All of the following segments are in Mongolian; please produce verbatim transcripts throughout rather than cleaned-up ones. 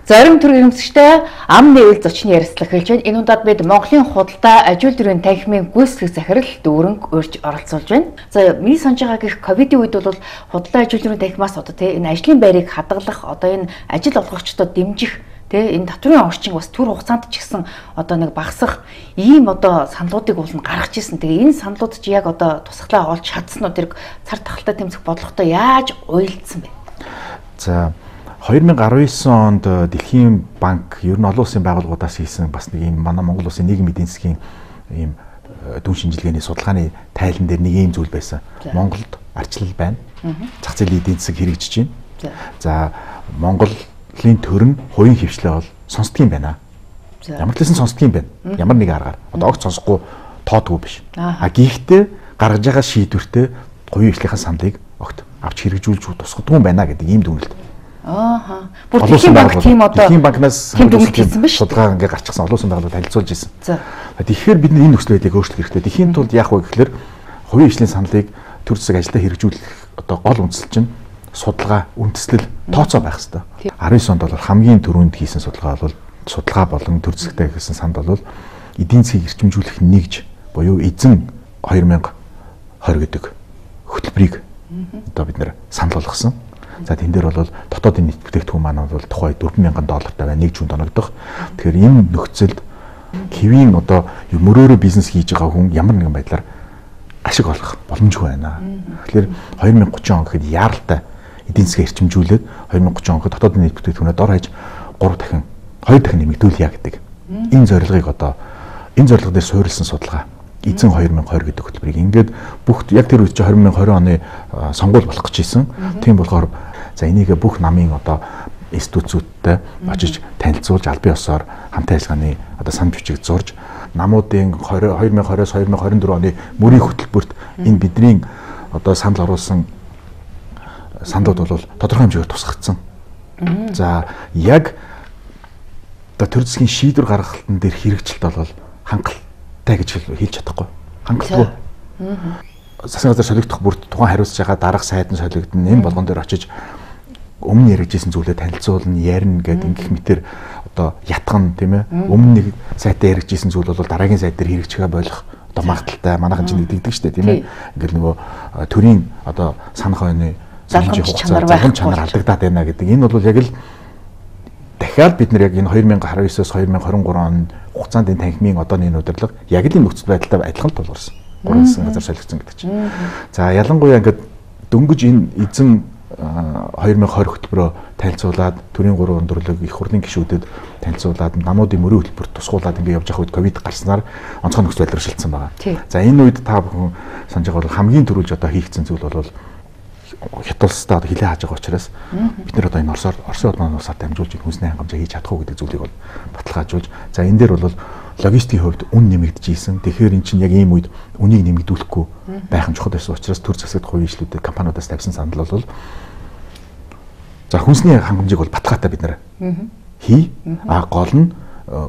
Зорим төр ирэмсэгчтэй ам нэвэл зочны ярилцлага хэлж байна. Энэ удаад бид Монголын худалдаа ажилтны төрийн танхимын гүйцэтгэх захирал дүүрэнг урьж оролцуулж байна. За миний санаж байгаа гэх ковидын үед бол худалдаа ажилтны төрийн танхимаас одоо тийм энэ ажлын байрыг хадгалах, одоо энэ ажил олгогчдод дэмжих, тийм энэ татврын орчин бас түр хугацаанд ч гэсэн одоо нэг багасах ийм одоо саналуудыг уулна гаргаж ирсэн. Тэгээ энэ саналууд чи яг одоо тусгалаа олж чадсан уу, тэр цар тахалтай тэмцэх бодлоготой яаж уялдсан бэ? За two thousand nineteen онд Дэлхийн банк ер нь олон улсын байгууллагуудаас хийсэн бас нэг юм манай Монгол улсын нийгмийн эдийн засгийн ийм дүн шинжилгээний судалгааны тайлан дээр нэг ийм зүйл байсан. Монголд арчлал байна. Зах зээлийн эдийн засаг хэрэгжиж байна. За Монголын төр нь хувийн хвшлээ бол сонсдог юм байна. Ямар ч лсэн сонсдог юм байна. Ямар нэг аргаар. Одоо огт сонсохгүй тоодгүй биш. А гэхдээ гаргаж байгаа шийдвэртэй хувийн хвшлийн саналыг огт авч хэрэгжүүлж тусгадгүй юм байна гэдэг ийм дүгнэлт. Ааха. Бүр Дэлхийн банк тийм одоо Дэлхийн банкнаас тийм дүгнэлт хийсэн биш. Судалгаа ингээ гарчихсан олон улсын байгууллагууд танилцуулж ирсэн. За. Тэгэхээр бид энэ нөхцөл байдлыг өөрчлөх хэрэгтэй. Дэлхийн тулд яах вэ гэхээр хувийн хвшлийн саналыг төр засаг ажилдаа хэрэгжүүлэх одоо гол үндсэл чинь судалгаа, үндэслэл тооцоо байх хэрэгтэй. nineteen онд бол хамгийн түрүүнд хийсэн судалгаа бол судалгаа болон төр засагтай гэсэн санал бол эдийн засгийг эрчимжүүлэх нэгж буюу эзэн two thousand twenty гэдэг хөтөлбөрийг одоо бид нэр санал болгосон. За тэн дээр бол дотоодын нийт бүтээгдэхүүн маань бол тухай four thousand доллартай байна, нэг жүнд оногдох. Тэгэхээр энэ нөхцөлд хэвийн одоо мөрөөрөө бизнес хийж байгаа хүн ямар нэгэн байдлаар ашиг олох боломжгүй байна. Тэгэхээр twenty thirty он гэхэд яаралтай эдийн засгийг эрчимжүүлээд twenty thirty он гэхэд дотоодын нийт бүтээгдэхүүнээ дор хаяж three дахин two дахин нэмэгдүүлье гэдэг. Энэ зорилгыг одоо энэ зорилго дээр суурилсан судалгаа эзэн two thousand twenty гэдэг хөтөлбөрийг ингээд бүх яг тэр үед чи twenty twenty оны сонгуул болох гэж ийсэн. Тийм болохоор за энийг бүх намын одоо институцүүдтэй очиж танилцуулж албан ёсоор хамтын ажиллагааны одоо сан бичиг зурж намуудын twenty twenty-оос twenty twenty-four оны мөрийн хөтөлбөрт энэ бидний одоо санал оруулсан сандууд бол тодорхой хэмжээгээр тусгагдсан. За яг одоо төр засгийн шийдвэр гаргалтын дээр хэрэгжилт бол хангалттай гэж хэлж чадахгүй. Хангалтгүй. Засгийн газар солигдох бүрт тухайн хариуцж байгаа дарга сайд нь солигдно. Энэ болгон дээр очиж өмнө яригдсэн зүйлээ танилцуулна, ярина гэдэг ингэх мэтэр одоо ятган тийм ээ. Өмнө нэг сайтаа яригдсэн зүйл бол дараагийн сайд дээр хэрэгжихээ болох одоо магадaltaй манайхан чинь нэгддэг шүү дээ тийм ээ. Ингээл нөгөө төрийн одоо санах ойны залгамж чанар байх чанар алдагдаад байна гэдэг. Энэ бол яг л дахиад бид нэр яг энэ twenty nineteen-оос twenty twenty-three он хугацаанд энэ танхимын одооны энэ удирдлага яг л энэ нөхцөл байдалтай адилхан тулгарсан. Гурван засгийн газар солигдсон гэдэг чинь. За ялангуяа ингээд дөнгөж энэ эзэн twenty twenty хөтөлбөрөөр танилцуулаад төрийн гурван өндөрлөг их хурлын гишүүдэд танилцуулаад намуудын мөрийн хөтөлбөрт тусгуулаад ингээд явж байгаа үед ковид гарснаар онцгой нөхцөл байдлаар шилжсэн байгаа. За энэ үед та бүхэн санаж байгаа бол хамгийн түрүүлж одоо хийгдсэн зүйл бол хятадстаа хилээ хааж байгаа учраас бид нэр одоо энэ Оросоор Оросын улман улсаар дамжуулж хүнсний хангамжаа хийж чадах уу гэдэг зүйлийг бол баталгаажуулж за энэ дээр бол логистикийн хувьд үн нэмэгдэжсэн. Тэгэхээр эн чинь яг ийм үед үнийг нэмэгдүүлэхгүй байх нь чухал байсан учраас төр засагт хувийн ишлүүдээ компаниудаас тавьсан санал бол за хүнсний хангамжийг бол баталгаатай бид нэр хий а гол нь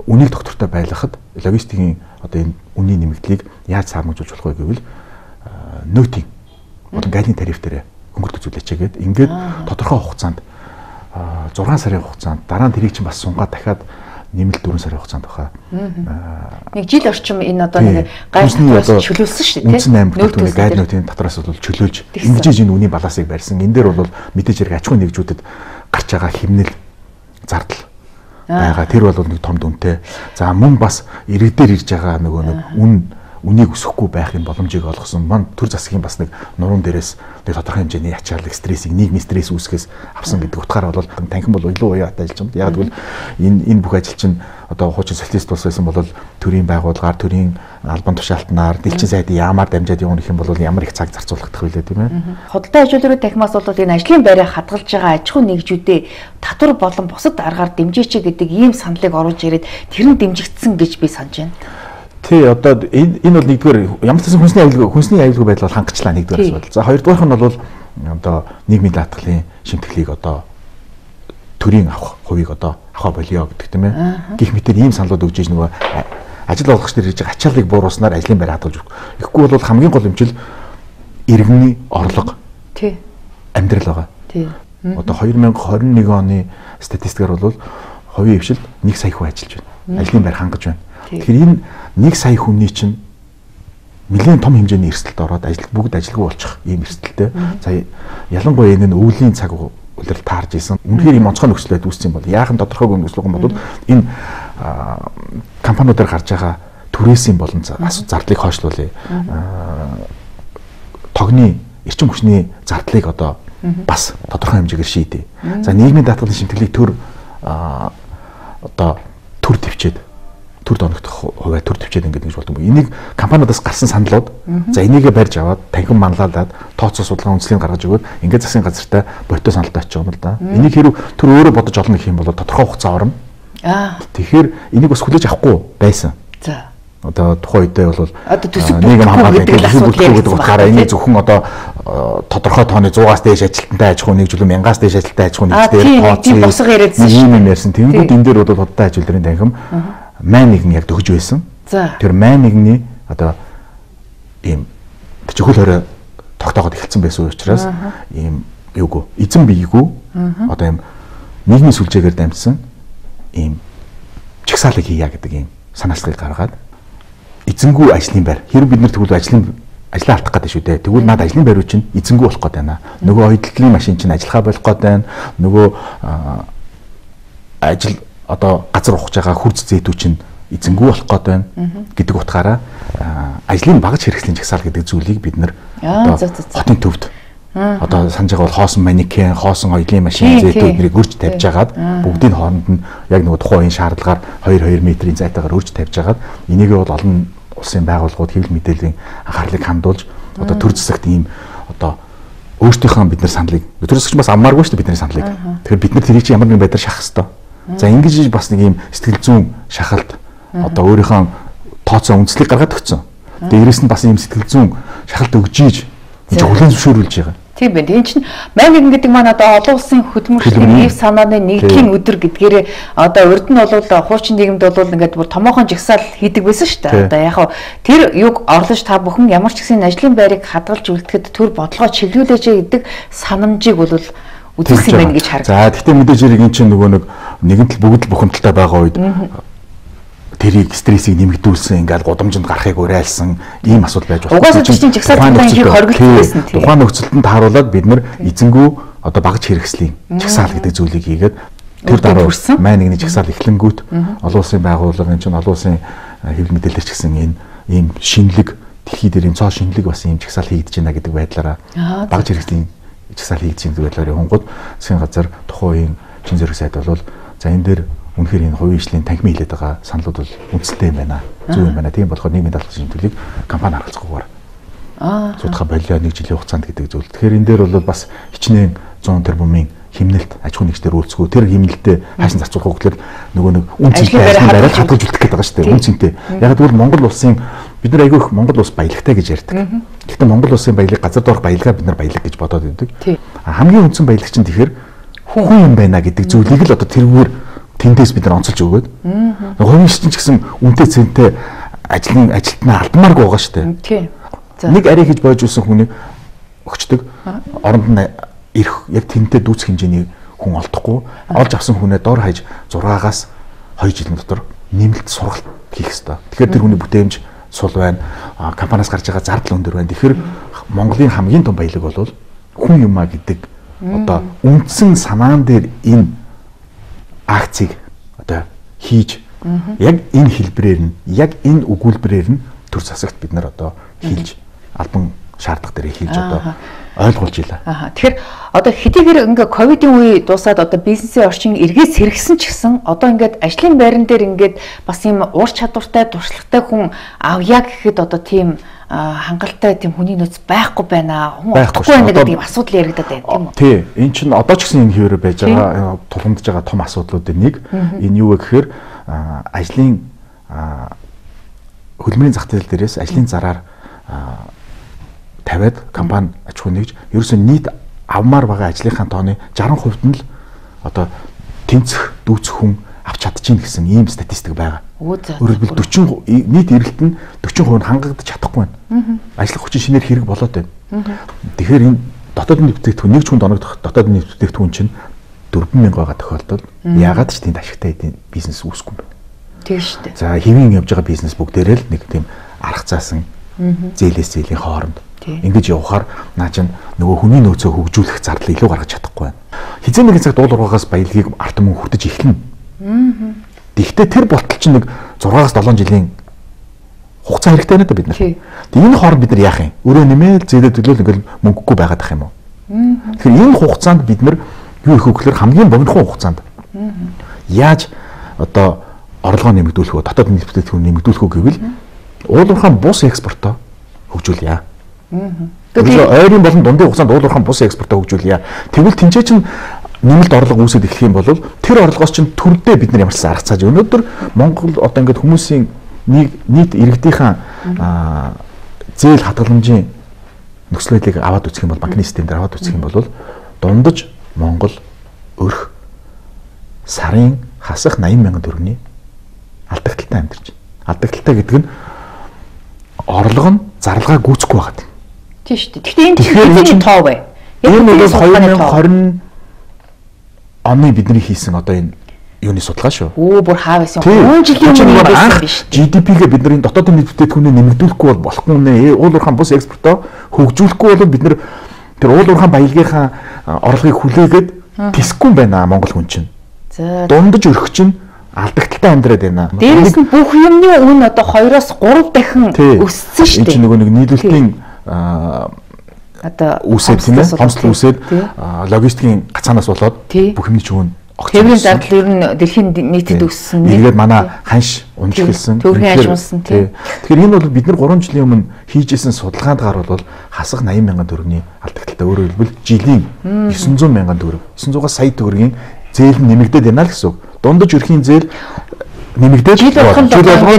үнийг доктортой байлгахад логистикийн одоо энэ үнийн нэмэгдлийг яаж сармжуулж болох вэ гэвэл нөтийн болон галын тариф дээр хөнгөлт үзүүлээчгээд ингээд тодорхой хугацаанд six сарын хугацаанд дараа нь тэрийг чинь бас сунгаад дахиад нэмэлт four сарын хугацаанд баха. Нэг жил орчим энэ одоо нэг гайхалтай чөлөөлсөн шүү дээ. Үндсэн аймаг төлөвлөгийн гайд нөтийн татвараас бол чөлөөлж ингэж энэ үнийн балансыг барьсан. Энэ дээр бол мэдээж хэрэг аж ахуйн нэгжүүдэд гарч байгаа хэмнэл зардал байгаа. Тэр бол нэг том дүнтэй. За мөн бас иргэдээр ирж байгаа нөгөө нэг үн үнийг өсөхгүй байхын боломжийг олгосон. Ман төр засгийн бас нэг нуруунд дээрээс нэг тодорхой хэмжээний ачаалал стрессийг нийгмийн стресс үүсгээс авсан гэдэг утгаараа бол танхим бол илүү уян ажиллаж байгаа. Яг гэвэл энэ энэ бүх ажил чинь одоо хуучин социалист улс байсан бол төрийн байгууллагаар төрийн албан тушаалтнаар дэлхийн сайдын яамаар дамжаад явах юм бол ямар их цаг зарцуулагдах вэ тийм ээ. Худалдаа ажилтны танхимаас бол энэ ажлын байраа хадгалж байгаа аж ахуйн нэгжүүдээ татвар болон бусад аргаар дэмжээч гэдэг ийм саналыг оруулж ирээд тэр нь дэмжигдсэн гэж би санаж байна. Тий одоо энэ энэ бол нэгдүгээр ямар ч гэсэн хүнсний аюулгүй хүнсний аюулгүй байдал бол хангацлаа нэгдүгээр асуудал. За хоёрдугаарх нь бол одоо нийгмийн даатгалын шимтгэлийг одоо төрийн авах хувийг одоо авах болио гэдэг тийм ээ. Гэх мэтэр ийм саналууд өгж иж нөгөө ажил олгогч нар хийж байгаа ачааллыг бууруулснаар ажлын байр хадгалж өгөх. Тэгэхгүй бол хамгийн гол хэмжил иргэний орлого. Тий. Амьдрал байгаа. Тий. Одоо twenty twenty-one оны статистикаар бол хувийн хвшилд нэг сая хүн ажиллаж байна. Ажлын байр хангаж байна. Тэгэхээр энэ нэг сая хүний чинь нэлээд том хэмжээний эрсдэлд ороод ажил бүгд ажилгүй болчих ийм эрсдэлтэй. За ялангуяа энэ өвлийн цаг үлрэл таарж исэн. Үнэхээр ийм онцгой нөхцөл байдал үүссэн бол яахан тодорхойгүй нөхцөл бол энэ компаниудаар гарч байгаа түрээсийн болон зардлыг хойшлуулъя. Тогны эрчим хүчний зардлыг одоо бас тодорхой хэмжээгээр шийдэе. За нийгмийн даатгалын шимтгэлийг төр одоо төр төвчээд төр доногдох хувиа төр төвчээд ингээд гэж болдог. Энийг компаниудаас гарсан саналууд за энийгээ барьж аваад танхим манлайлаад тооцоо судалгаа үндэслийг гаргаж өгөөд ингээд засгийн газартаа ботто саналтай очих юм л да. Энийг хэрв төр өөрөө бодож олно гэх юм бол тодорхой хугацаа орно. Аа. Тэгэхээр энийг бас хүлээж авахгүй байсан. За. Одоо тухайн үедээ бол нийгэм хамгаалалт гэдэг асуудал утгаараа энийг зөвхөн одоо тодорхой тооны суугаас дээш ажилтнтай аж ахуй нэг жилийн мянгаас дээш ажилттай аж ахуй нэг дээр тооцоо ийм юм ярьсан. Тэнгүүд энэ дээр бол худалдаа ажилтны танхим мань нэгэн яг төгж байсан. Тэр мань нэгний одоо ийм чөхөл хорой тогтоогод эхэлсэн байсан учраас ийм юугүй эзэн биегүй одоо ийм нийгмийн сүлжээгээр дамжсан ийм чагсаалыг хийя гэдэг ийм санаачлалыг гаргаад эзэнгүй ажлын байр. Хэрэг бид нар тэгвэл ажлын ажлаа алдах гэдэг шүү дээ. Тэгвэл наад ажлын байруу чинь эзэнгүй болох гээд байна. Нөгөө ойдлын машин чинь ажиллахаа болох гээд байна. Нөгөө ажил одоо газар ухаж байгаа хурц зээтүү чинь эзэнгүй болох гээд байна гэдэг утгаараа ажлын багаж хэрэгслийн чагсаал гэдэг зүйлийг бид нар одоо хотын төвд одоо санаж байгаа бол хоосон манекен, хоосон ойдлын машин зээтүүд нэрийг өрж тавьж агаад бүгдийн хооронд нь яг нөгөө тухайн үеийн шаардлагаар хоёр хоёр метрийн зайтаагаар өрж тавьж агаад энийг бол олон улсын байгууллагууд хэвлэл мэдээллийн анхаарлыг хандуулж одоо төр засагт ийм одоо өөрсдийнхөө бид нар саналыг төр засагч бас аммааргүй шүү дээ бидний саналыг. Тэгэхээр бид нар тэрийг чи ямар нэгэн байдлаар шахах хэрэгтэй. За ингэж бас нэг ийм сэтгэл зүйн шахалт одоо өөрийнхөө тооцоо үндслийг гаргаад өгсөн. Тэгээ дээрэс нь бас ийм сэтгэл зүйн шахалт өгж ийж энэ хүлээн зөвшөөрүүлж байгаа. Тийм байна. Энэ чинь мань нэгэн гэдэг маань одоо олон улсын хөдөлмөрчлийн ив санааны нэгдлийн өдөр гэдгээрээ одоо урд нь бол хуучин нийгэмд бол ингээд бүр томоохон жагсаал хийдэг байсан шүү дээ. Одоо яг хав тэр юг орлож та бүхэн ямар ч гэсэн ажлын байрыг хадгалж үлдэхэд төр бодлогоо чиглүүлээч гэдэг санамжийг бол үзүүлсэн байна гэж харагдав. За гэхдээ мэдээж хэрэг энэ чинь нөгөө нэг нэгэн тал бүгд л бухимдалтай байгаа үед тэрийг стрессийг нэмэгдүүлсэн ингээл гудамжинд гарахыг уриалсан ийм асуудал байж болно. Угаасаа чинь жагсаалтын шиг хоригдсон байсан тийм. Тухайн нөхцөлд тааруулаад бид нар эзэнгүү одоо багаж хэрэгслийн жагсаал гэдэг зүйлийг хийгээд тэр дараа мань нэгний жагсаал эхлэнгүүт олон улсын байгууллагын чинь олон улсын хэвлэл мэдээлэлч гэсэн энэ ийм шинэлэг дэлхий дээр энэ цоо шинэлэг бас ийм жагсаал хийгдэж байна гэдэг байдлаараа багаж хэрэгслийн жагсаал хийгдэж байгаа гэдэг байдлаар хонгод засгийн газар тухайн үеийн чин зэрэг сайд бол за энэ дээр үнэхээр энэ хувийн хвшлийн танхимын хилээд байгаа саналууд бол үндэстэй юм байна. Зөв юм байна. Тийм болохоор нийгмийн даатгалын шимтгэлийг компани харгалзахгүйгээр аа судалгаа болио нэг жилийн хугацаанд гэдэг зүйл. Тэгэхээр энэ дээр бол бас хичнээн зуун тэрбумын химнэлт аж ахуй нэгжээр үйлцгүү. Тэр химнэлтэд хайсан зарцуулах хөглөл нөгөө нэг үн цэнтэй ажлын байраар хадгалж үлдэх гэдэг байгаа шүү дээ. Үн цэнтэй. Яг тэгвэл Монгол улсын бид нар айгүй их Монгол улс баялагтай гэж ярьдаг. Гэхдээ Монгол улсын баялаг газар доорх баялгаа бид нар баялаг гэж бодоод байдаг. Хамгийн үндсэн баялаг чинь тэгэхээр хүн юм байна гэдэг зүйлийг л одоо тэрүүгээр тэндээс бид нар онцолж өгөөд хувийн чинь ч гэсэн үнэтэй цэнтэй ажлын ажилтнаа алдмааргүй байгаа шүү дээ. Тийм. Нэг арай хийж боож үлсэн хүнийг өгчдөг. Оронд нь ирэх яг тэнтэй дүүцэх хэмжээний хүн олдохгүй. Олж авсан хүнээ дор хаяж зургаагаас хоёр жилийн дотор нэмэлт сургалт хийх ёстой. Тэгэхээр тэр хүний бүтээмж сул байна. Компаниас гарч байгаа зардал өндөр байна. Тэгэхээр Монголын хамгийн том баялаг бол хүн юмаа гэдэг одоо үндсэн санаан дээр энэ акцийг одоо хийж яг энэ хэлбэрээр нь яг энэ өгүүлбэрээр нь төр засагт бид нар одоо хийж албан шаардлага дээр хийж одоо ойлгуулж илаа. Аа. Тэгэхээр одоо хэдийгээр ингээ ковидын үе дуусаад одоо бизнесийн орчин эргээс сэргсэн ч гэсэн одоо ингээд ажлын байран дээр ингээд бас юм уур чадвартай туршлагатай хүн авъя гэхэд одоо тийм хангалттай тийм хүний нөөц байхгүй байна. Хүн олдохгүй байна гэдэг асуудал яригадаад байна тийм үү? Тий. Энд чинь одоо ч гэсэн энэ хэвээр байж байгаа тулгамдж байгаа том асуудлуудын нэг. Энэ юу вэ гэхээр ажлын хөлмөрийн зах зээл дээрээс ажлын зараар тавиад компани аж ахуй нэгж ерөөсөө нийт авмаар байгаа ажлынхаа тооны саран хувьд нь л одоо тэнцэх дүүцэх хүн авч чадчихна гэсэн ийм статистик байгаа. Өөрөлдвөл дөрвөн нийт эрэлт нь дөрвөн хувь нь хангагдаж чадахгүй байна. Ажлах хүчин шинээр хэрэг болоод байна. Тэгэхээр энэ дотоодын нэвтрүүлэгдэхүүн нэг ч хүн доногдох дотоодын нэвтрүүлэгдэхүүн чинь дөрвөн мянга байгаа тохиолдолд яагаад ч тэнд ашигтай эдийн бизнес үүсэхгүй юм бэ? Тийм шүү дээ. За хэвийн явж байгаа бизнес бүгдээрээ л нэг тийм арга заасан зээлээс зээлийн хооронд ингэж явахаар наа чинь нөгөө хүний нөөцөө хөгжүүлэх зардал илүү гаргаж чадахгүй байна. Хизээ нэгэн цагт уул уургаас баялагийг ард түмэн хүртэж эхэлнэ. Гэхдээ тэр болтол чинь нэг зургаас долоон жилийн хугацаа хэрэгтэй байна да бид нар. Тэгээ энэ хооронд бид нар яах юм? Өөрөө нэмээд зээлээ төлөөл ингээл мөнгөгүй байгаад ах юм уу? Тэгэхээр энэ хугацаанд бид нар юу их өгөхлөөр хамгийн богинохон хугацаанд яаж одоо орлогоо нэмэгдүүлэх вэ? Дотоод нийт бүтээгдэхүүн нэмэгдүүлэх үү гэвэл уул уурхайн бус экспортоо хөгжүүлье. Тэгэхээр ойрын болон дундын хугацаанд уул уурхайн бус экспортоо хөгжүүлье. Тэгвэл тэнцээ чинь нэмэлт орлого үүсэж эхлэх юм бол тэр орлогоос чинь төрдөө бид нар ямарчсан арга цааж өнөөдөр Монгол одоо ингээд хүмүүсийн нийт иргэдийнхэн зээл хадгаламжийн нөхцөл байдлыг аваад үзэх юм бол банкны системээр аваад үзэх юм бол дундаж Монгол өрх сарын хасах восемь мянган төгрөгийн алдагдaltaй амьдарч. Алдагдaltaй гэдэг нь орлого нь зарлагаа гүйцэхгүй байгаад. Тийм шүү дээ. Гэхдээ энэ чинь тоо бай. Энэ бол две тысячи двадцать оны бидний хийсэн одоо энэ юуны судалгаа шүү. Өө бүр хаа байсан. гурван жилийн өмнө байсан биш. джи ди пи-гээ бид нар дотоодын нийт бүтээгдэхүүнээ нэмэгдүүлэхгүй бол болохгүй нэ. Уул уурхайн бус экспортоо хөгжүүлэхгүй бол бид нар тэр уул уурхайн баялагийнхаа орлогыг хүлээгээд тэсэхгүй байна Монгол хүн чинь. За дундаж өрөх чинь алдагдaltaй амьдраад байна. Дээрээс нь бүх юмны үн одоо двоёроос гурав дахин өссөн шүү дээ. Энэ чинь нөгөө нэг нийлүүлэлтийн одоо үсээд тийм ээ, хомсдол үсээд логистикийн гацаанаас болоод бүх юмний чинь тээврийн зардал ер нь дэлхийн нийтэд өссөн. Эргээд манай ханш унж эхэлсэн. Төвхөн ханш унсан тийм. Тэгэхээр энэ бол бид нар гурван жилийн өмнө хийжсэн судалгаанд гарвал хасах восемь мянган төгрөгийн алдагдaltaй. Өөрөөр хэлбэл жилийн девятьсот мянган төгрөг, девятьсот сая төгрөгийн зээл нэмэгдээд байна л гэсэн үг. Дундаж өрхийн зээл нэмэгдээд жил болгон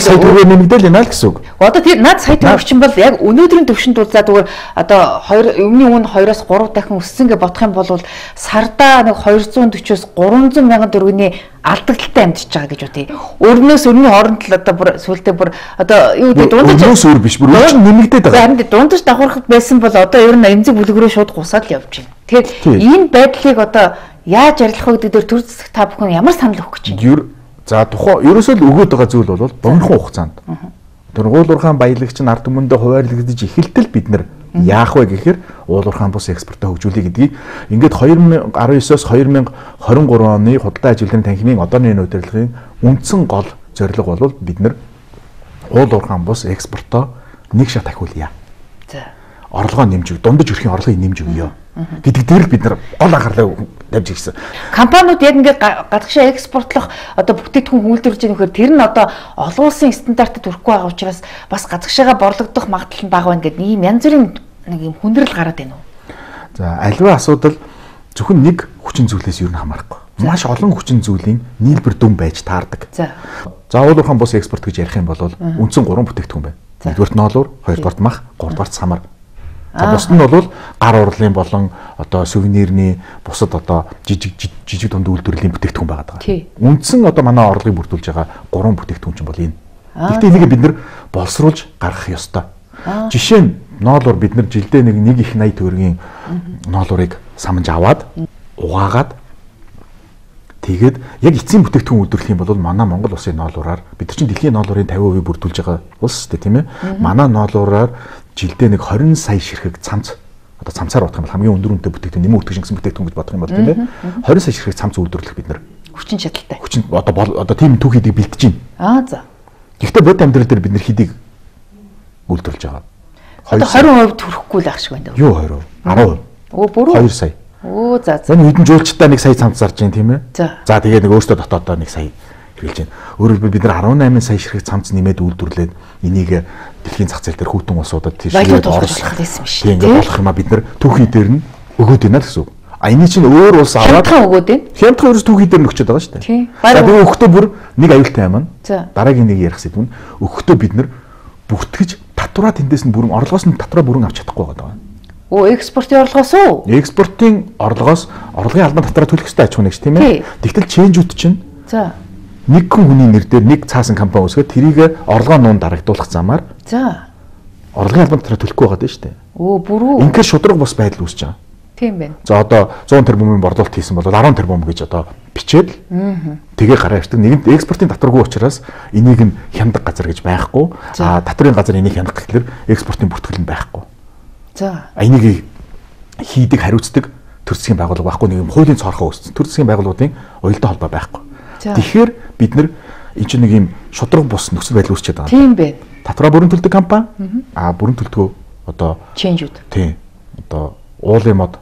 сая төгрөг нэмэгдээл байна л гэсэн үг. Одоо тэр над сая төгрөг чинь бол яг өнөөдрийн төвшөнд бол за зүгээр одоо хоёр өмнө үн двоёроос гурав дахин өссөн гэж бодох юм бол сардаа нэг двести четырёос триста мянган төгрөгийн алдагдaltaй амьдч байгаа гэж үтэй. Өрнөөс өрний хооронд л одоо бүр сүултээ бүр одоо юу гэдэг дундаж өрнөөс өөр биш бүр өөр нэмэгдээд байгаа. Харин дундаж давхархад байсан бол одоо ер нь эмзэг бүлгэрөө шууд гусаад л явж байна. Тэгэхээр энэ байдлыг одоо яаж арилгах вэ гэдэг дээр төр зэсэг та бүхэн ямар санал өгөх гэж байна? За тухайн ерөөсөө л өгөөд байгаа зүйл бол богинохон хугацаанд. Тэр уул уурхайн баялагч нь ард түмэндээ хуваарлагдаж эхэлтэл бид нар яах вэ гэхээр уул уурхайн бус экспортоо хөгжүүлэх гэдгийг ингээд две тысячи десятнадцатоос две тысячи двадцать три оны худалдаа ажилтны танхимын одооны удирдлагын үндсэн гол зорилго бол бид нар уул уурхайн бус экспортоо нэг шат ахиулъя. За орлогоо нэмж өг, дундаж өрхийн орлогыг нэмж өгье гэдэг дээр л бид нар гол анхаарлаа тавьж ирсэн. Компаниуд яг ингээд гадагшаа экспортлох одоо бүтээгдэхүүн үйлдвэрлэж байгаа нөхөр тэр нь одоо олон улсын стандартад хүрэхгүй байгаа учраас бас гадагшаага борлогдох магадлал нь бага байна гэдэг ийм янз бүрийн нэг юм хүндрэл гараад байна уу? За аливаа асуудал зөвхөн нэг хүчин зүйлээс юу н хамаарахгүй. Маш олон хүчин зүйлийн нийлбэр дүн байж таардаг. За. За уул уурхайн бус экспорт гэж ярих юм бол үндсэн гурван бүтээгдэхүүн байна. Нэгдүгээрт ноолуур, хоёрдугаарт мах, гуравдугаарт самар. За бусд нь бол гар урлын болон одоо сувенирний бусад одоо жижиг жижиг дунд үйлдвэрлэлийн бүтээгдэхүүн байгаа даа. Үндсэн одоо манай орлогыг бүрдүүлж байгаа гурван бүтээгдэхүүн чинь бол энэ. Гэхдээ энийг бид нар боловсруулж гаргах ёстой. Жишээ нь ноолуур бид нар жилдээ нэг нэг их восемьдесят төгрөгийн ноолуурыг самж аваад угаагаад тэгээд яг эцсийн бүтээгдэхүүн үйлдвэрлэх юм бол манай Монгол улсын ноолуураар бид нар чинь дэлхийн ноолуурын фifty percent бүрдүүлж байгаа улс шүү дээ тийм ээ. Манай ноолуураар жилдээ нэг twenty сая ширхэг цамц одоо цамцаар бодох юм бол хамгийн өндөр үнэтэй бүтээгдэхүүн нэмэн өтгөж гэсэн бүтээгдэхүүн гэж бодох юм бол тийм ээ. twenty сая ширхэг цамц үйлдвэрлэх бид нар хүчин чадалтай. Хүчин одоо одоо тийм түүх хийдэг бэлтэж байна. Аа за. Гэхдээ бод амьдрал дээр бид нар хийдэг үйлдвэрлэж байгаа. Одоо twenty percent хүрэхгүй л ах шиг байна. Юу twenty percent? ten percent. Оо бүрөө. two сая. Оо за за. Энэ хэдэн жуулчтай нэг сая цамц зарж байна тийм ээ. За. За тэгээ нэг өөртөө дотоодоо нэг сая хэрэглэж байна. Өөрөөр хэлбэл бид нар eighty-eight сая ширхэг цамц нэмээд үйлдвэрлээд энийг дэлхийн зах зээл дээр хүүтэн улсуудад тийшээ оруулах байсан биш. Тийм ингээд болох юм а бид нар түүхий дээр нь өгөөд байна л гэсэн үг. А энэ чинь өөр улс аваад хямдхан өгөөд байна. Хямдхан ерөөс түүхий дээр нөгчөд байгаа шүү дээ. Тийм. За би өгөхдөө бүр нэг аюултай юм аа. Дараагийн нэг ярих сэдв нь өгөхдөө бид нар бүртгэж татвараа тэндээс нь бүрэн орлогоос нь татвараа бүрэн авч чадахгүй байгаа. Оо экспортын орлогоос уу? Экспортын орлогоос орлогын албан татвараа төлөх ёстой аж ахуй нэгж тийм ээ. Тэгтэл ченжүүд чинь за нэг хүн хүний нэр дээр нэг цаасан компани үүсгээд тэрийг орлогоо нуун дарагдуулах замаар за орлогын албан татвараа төлөхгүй байгаа дээ шүү дээ. Оо бүрүү. Инхээр шудраг бус байдал үүсэж байгаа. Тийм байна. За одоо зуун тэрбумын борлуулалт хийсэн бол арван тэрбум гэж одоо бичээд тэгээ гараа ирдэг. Нэгэнт экспортын татваргүй учраас энийг нь хяндаг газар гэж байхгүй. А татврын газар энийг хянах гэхэлэр экспортын бүртгэл нь байхгүй. За. Энийг хийдэг хариуцдаг төр засгийн байгууллага байхгүй, нэг юм хуулийн цорхоо үүссэн төр засгийн байгууллагуудын уялдаа холбоо байхгүй. Тэгэхээр бид нар энэ чинь нэг юм шудраг бус нөхцөл байдал үүсчихэд байгаа. Тийм байна. Татвараа бүрэн төлдөг компани а бүрэн төлдгөө одоо ченжүүд. Тийм. Одоо уулын мод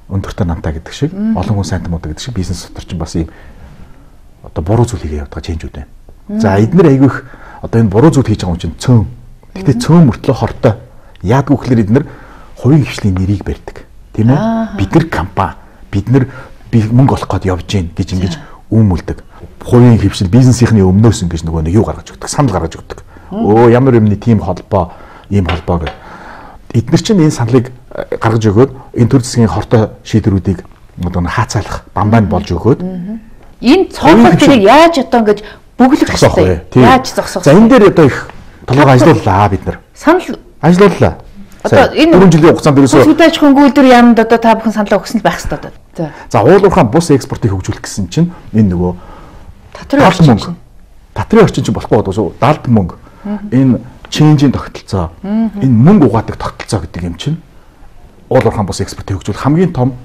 өндөртэй намтаа гэдэг шиг олон хүн сайн мод гэдэг шиг бизнес дотор чинь бас ийм одоо буруу зүйл хийгээ явдаг ченжүүд байна. За эдгээр айгүйх одоо энэ буруу зүйл хийж байгаа юм чинь цөөн. Гэтэ цөөн мөртлөө хортой. Яадгүй гэхэлэр эдгээр хувийн хвшлийн нэрийг барьдаг. Тийм үү? Бид нар компани, бид нар мөнгө олох гээд явж гин гэж ингэж үүмэлдэг. Хувийн хвшил бизнесийнхний өмнөөс ингэж нөгөө нэг юу гаргаж өгдөг, санал гаргаж өгдөг. Өө ямар юмны тим холбоо, ийм холбоо гэдэг. Эдгээр чинь энэ саналыг гаргаж өгөөд энэ төр засгийн хортой шийдвэрүүдийг одоо хаацаалах бамбайн болж өгөөд энэ цоглолтыг яаж одоо ингэж бүглэх хэрэгтэй. Яаж зогсоох. За энэ дээр одоо их толгой ажиллууллаа бид нар. Санал ажиллууллаа. Одоо энэ дөрвөн жилийн хугацаанд ерөөсөө хүлээж хөнгөлдөр яамд одоо та бүхэн саналаа өгсөн л байх хэрэгтэй одоо. За. За уул уурхайн бус экспортыг хөгжүүлэх гэсэн чинь энэ нөгөө татрын орчин. Татрын орчин чинь болохгүй болов шүү. Далд мөнгө. Энэ ченжийн тогтолцоо. Энэ мөнгө угаадаг тогтолцоо гэдэг юм чинь уул уурхайн бус экспортыг хөгжүүлэх хамгийн том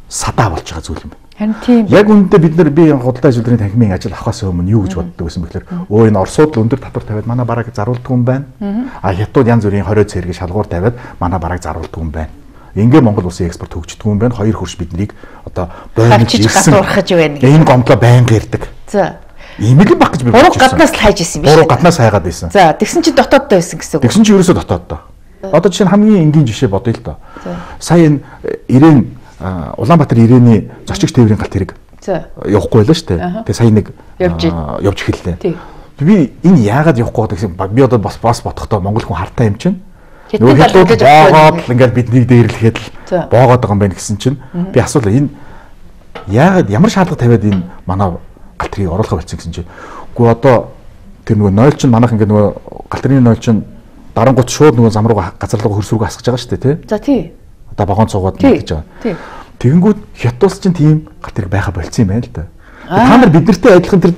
садаа болж байгаа зүйл юм байна. Харин тийм. Яг үүндээ бид нар би худалдаа ажилтны танхимын ажил авахаас өмнө юу гэж боддог байсан бэхээр өө энэ Оросууд л өндөр татвар тавиад манай бараг заруулдаг юм байна. А хятад янз бүрийн хорио цэрэг шалгуур тавиад манай бараг заруулдаг юм байна. Ингээ Монгол улсын экспорт хөгждөг юм байна. Хоёр хөрш биднийг одоо бойнож ирсэн. Хатуурхаж байна. Энэ гомдлоо байнга ирдэг. За. Ийм л баг гэж би бодож байна. Буруу гаднаас л хайж исэн юм биш. Буруу гаднаас хайгаад байсан. За, тэгсэн чинь дотооддоо байсан гэсэн үг. Тэгсэн чинь ерөөсөө дотооддоо. Одоо жишээ нь хамгийн энгийн жишээ бодъё л доо. Сая энэ Ирээн Улаанбаатар Ирээний зочигч тээврийн галт хэрэг явахгүй байлаа шүү дээ. Тэгээ сая нэг явж эхэллээ. Би энэ яагаад явахгүй гэсэн би одоо бас бас бодохдоо монгол хүн хартай юм чинь. Нөгөө хэлбэл боогоод ингээд биднийг дээрлэхэд л боогоод байгаа юм байна гэсэн чинь би асуулаа энэ яагаад ямар шаардлага тавиад энэ манай галт хэргийг оруулах болсон гэсэн чинь. Үгүй одоо тэр нөгөө нойл чинь манайх ингээд нөгөө галт хэргийн нойл чинь дарангууд шууд нөгөө зам руугаа газар руугаа хөрс рүүгээ асгаж байгаа шүү дээ тий. За тий. Одоо багоон цугаад гэж байгаа. Тий. Тэгэнгүүт хятадс чинь тийм галт хэрэг байха болцсон юм байна л да. Та нар биднэртэй адилхан тэр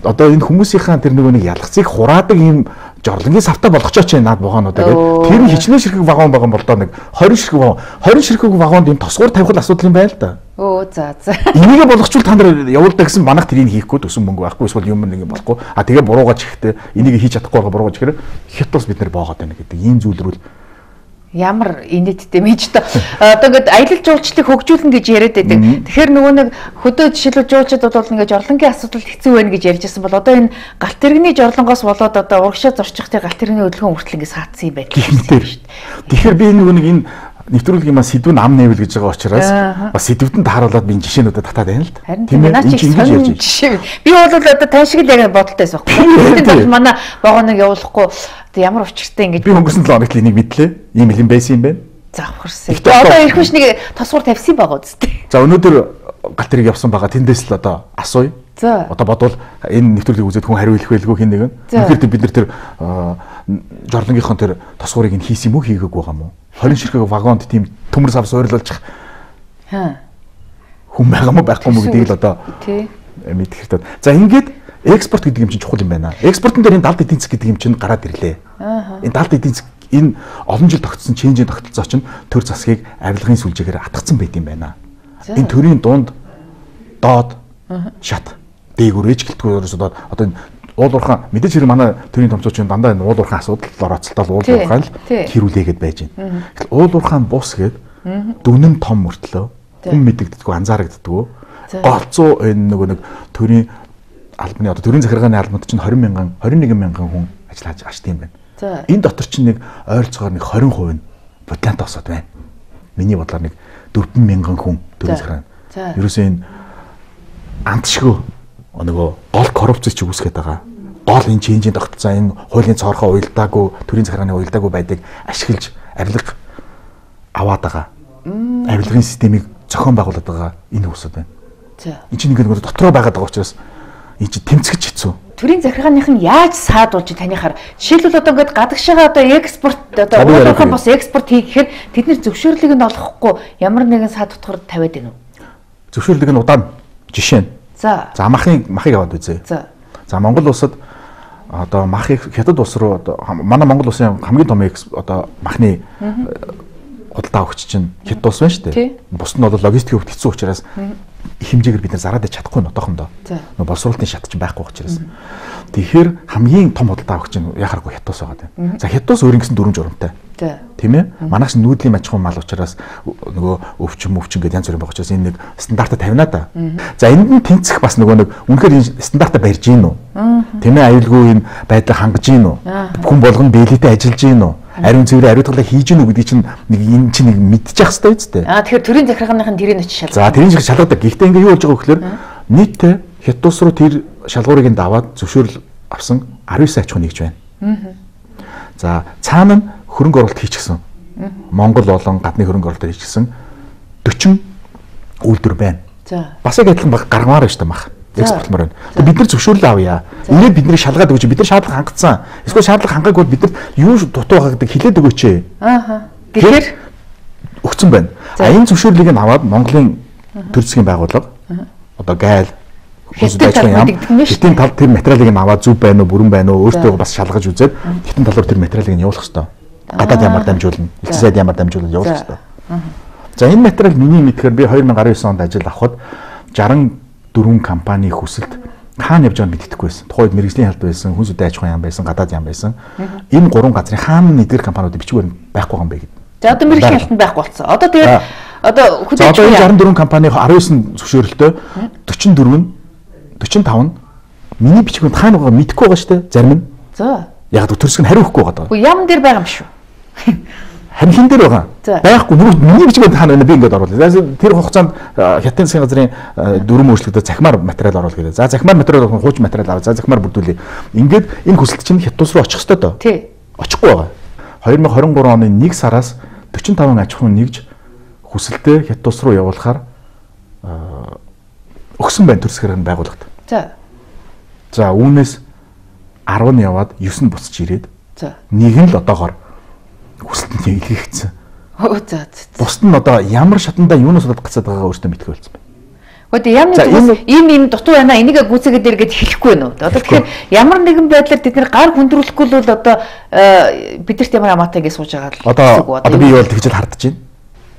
одоо энэ хүмүүсийнхаа тэр нөгөө нэг ялгцыг хураадаг юм жорлонгийн савтаа болгочооч наад вагонуудаа гэдэг. Тэр нь хичнээн ширхэг вагон байгаа бол доо нэг двадцать ширхэг вагон. двадцать ширхэг вагонд юм тосгуур тавих асуудал юм байна л да. Өө за за. Энийг болгочвол та нар явуулдаг гэсэн манайх тэрийг хийхгүй төсөн мөнгө байхгүй эсвэл юм нэг юм болохгүй. А тэгээ буруугаж ихтэй энийг хийж чадахгүй байгаа буруугаж ихээр хятадс бид нар боогоод байна гэдэг. Ийм зүйлрүүл ямар инээдтэй мэж та одоо ингээд аялал жуулчлалыг хөгжүүлнэ гэж яриад байдаг. Тэгэхээр нөгөө нэг хөдөө жишээлбэл жуулчид бол ингээд жорлонгийн асуудал хэцүү байна гэж ярьж байсан бол одоо энэ галт тэрэгний жорлонгоос болоод одоо урагшаа зорчихтой галт тэрэгний хөдөлгөөн хүртэл ингээд саадсан юм байна шүү дээ. Тэгэхээр би нөгөө нэг энэ нэвтрүүлгийн маань сэдвүүн ам нэвэл гэж байгаа учраас бас сэдвүүдэнд тааруулаад би жишээнүүдэд татаад байна л да. Тийм ээ. Наач ингэж жишээ. Би бол одоо тань шиг л яг бодолтой байсан байхгүй. Тэгээд манай вагоныг явуулахгүй ямар учиртай ингэж би өнгөрсөн долоо хоногт энийг мэдлээ. Ийм юм байсан юм байна. За авахрсан. Одоо ирэх биш нэг тосгуур тавьсан байгаа үстэй. За өнөөдөр галт хэрэг явсан байгаа тэндээс л одоо асууя. За. Одоо бодвол энэ нэвтрүүлгийг үзээд хүн хариу хэлэх байлгүй хин нэгэн. Тэгэхээр бид нар тэр жорлонгийнхон тэр тосгуурыг нь хийсэн юм уу хийгээгүй байгаа юм уу? двадцать ширхэг вагонд тийм төмөр сав суйрлуулчих. Хаа. Хүн байгаа мó байхгүй мó гэдгийг л одоо мэдэх хэрэгтэй. За ингээд экспорт гэдэг юм чинь чухал юм байна. Экспортын дээр энэ далд эдийн засаг гэдэг юм чинь гараад ирлээ. Энэ далд эдийн засаг энэ олон жил тогтсон ченжийн тогтолцоо чинь төр засгийг авилгын сүлжээгээр атгацсан байт юм байна. Энэ төрийн дунд доод шат дээгүүр ээжгэлтгүүрээс одоо одоо энэ уул уурхаан мэдээж хэрэг манай төрийн томцооч нь дандаа энэ уул уурхаан асуудал орооцолтол уул уурхаан л хэрүүлээгээд байж байна. Тэгэхээр уул уурхаан бус гээд дүнэн том мөртлөө хүн мэдэгддэггүй анзаарагддаггүй. Голцоо энэ нөгөө нэг төрийн албаны одоо төрийн захиргааны албанд чинь двадцать мянган двадцать one мянган хүн ажиллаж ажт юм байна. Энэ дотор чинь нэг ойролцоогоор нэг twenty percent нь бодлаантай осоод байна. Миний бодлоор нэг four мянган хүн төрийн захиргааны. Ерөөсөө энэ антшгүй нөгөө гол коррупцч үүсгэж байгаа. Гол энэ ченжийн тогтолцоо энэ хуулийн цоорхоо уялдаагүй төрийн захиргааны уялдаагүй байдгийг ашиглаж авилга аваад байгаа. Авилгын системийг зохион байгуулад байгаа энэ хүмүүсүүд байна. За. Энэ чинь нэг нэг дотроо байгаад байгаа учраас энэ чинь тэмцэж хэцүү. төрийн захиргааных нь яаж саадуулж танихаар жишээлбэл одоо ингээд гадагшаага одоо экспорт одоо уулуурхан бос экспорт хийх гэхээр тэд нэр зөвшөөрлийг нь олохгүй ямар нэгэн саад утгаар тавиад байна уу? Зөвшөөрлийг нь удаана. Жишээ нь. За. За махыг махыг аваад үзье. За. За Монгол улсад одоо махыг хятад улс руу одоо манай Монгол улсын хамгийн том одоо махны худалдаа өгч чинь хятад улс байна шүү дээ. Бус нь бол логистикийн хувьд хэцүү учраас хэмжээгээр бид нар зараад ич чадахгүй нь одоохондоо. Нөө боловсруулалтын шат чинь байхгүй учраас. Тэгэхээр хамгийн том худалдаа өгч чинь яхааргүй хятад улс байгаа юм. За хятад улс өөр ингэсэн дүрм журамтай. Тийм ээ. Манайх нүүдлийн аж ахуйн мал учраас нөгөө өвчин өвчин гэдэг янз бүрийн байх учраас энэ нэг стандартаа тавина да. За энд нь тэнцэх бас нөгөө нэг үнэхээр энэ стандартаа барьж гин үү? Тийм ээ, аюулгүй энэ байдлыг хангаж гин үү? Хүн болгоно биелэлтэй ажиллаж гин үү? Ариун цэврийн ариутгалыг хийж гин үү гэдгийг чинь нэг энэ чинь нэг мэдчих хэвээр үстэй. Аа тэгэхээр төрийн захиргааных нь тэрийг очиж шалгадаг. За тэрийн шиг шалгадаг. Гэхдээ ингээ юу болж байгаа вэ гэхээр нийтдээ хятад улс руу тэр шалгуурыг нь даваад зөвшөөрөл авсан арван нисийн аж ахуй нэгж байна. За цаана нь хөрөнгө оруулалт хийчихсэн. Монгол болон гадны хөрөнгө оруулалт хийчихсэн дөрвөн үйлдвэр байна. За. Бас яг адилхан баг гаргамаар байна шүү дээ мах. Экспортлмоор байна. Тэгээ бид нар зөвшөөрлөө авъя. Ингээд бидний шалгаад өгч бид нар шаардлага хангацсан. Эсвэл шаардлага хангаагүй бол бид нар юу дутуу байгаа гэдэг хэлээд өгөөч. Аа. Тэгэхээр өгсөн байна. А энэ зөвшөөрлийг нь аваад Монголын төр засгийн байгууллага одоо гайл хятадын тал тэр материалыг нь аваад зүв байна уу, бүрэн байна уу, өөртөө бас шалгаж үзээд хятадын талаар тэр материалыг нь явуулах хэрэгтэй. Гадаад ямар дамжуулна, элчин сайд ямар дамжуулна явуулах хэрэгтэй. За энэ материал миний мэдхээр би две тысячи десять онд ажил авахад шестьдесят дөрвөн компани хүсэлт хаана явж байгааг мэддэхгүй байсан. Тухайд мэрэгжлийн халд байсан, хүн сүдэн аж ахуйн яам байсан, гадаад яам байсан. Энэ гурван газрын хаана нэгдэр компаниудын бичгээр байхгүй байгаа юм бэ гэдэг. За одоо мэрэгжлийн халтанд байхгүй болсон. Одоо тэгээд одоо хүлээж авах шестьдесят дөрвөн компани девятнадцать зөвшөөрөлтөө forty-four нь forty-five нь миний бичгүүнд хаана байгааг мэдэхгүй байгаа шүү дээ. Зарим нь. За. Яг төрсг нь хариу өгөхгүй байгаа. Уу ям дээр байгаа юм шүү. Харин хин дээр байгаа. Байхгүй нөгөө миний бичгүүнд хаана байна би ингээд оруулаа. Тэр хугацаанд хятадын засгийн газрын дөрвөн өөрчлөлтөд захимаар материал оруулах гэдэг. За захимаар материал оруулах хууч материал аваа. За захимаар бүрдүүлээ. Ингээд энэ хүсэлт чинь хятад улс руу очих ёстой доо. Тий. Очихгүй байгаа. две тысячи двадцать три оны нэг сараас forty-five аж ахуйн нэгж хүсэлтээ хятад улс руу явуулахаар өгсөн байна төр засгийн байгууллагад. За. За үүнээс ten нь яваад nine нь буцаж ирээд. За. Нэг нь л одоогоор хүсэлт нь илгээгдсэн. Оо за. Бусд нь одоо ямар шатандаа юунаас болоод гацаад байгаагаа өөртөө мэдгүй болсон байна. Гэхдээ ямар нэг ийм ийм дутуу байна энийгээ гүцээгээд иргээд хэлэхгүй байна уу? Одоо тэгэхээр ямар нэгэн байдлаар бид нэр гар хүндрүүлэхгүй л бол одоо бидэрт ямар амаатай гэж сууж байгаа л. Одоо одоо би юу бол тэгж л хардж байна.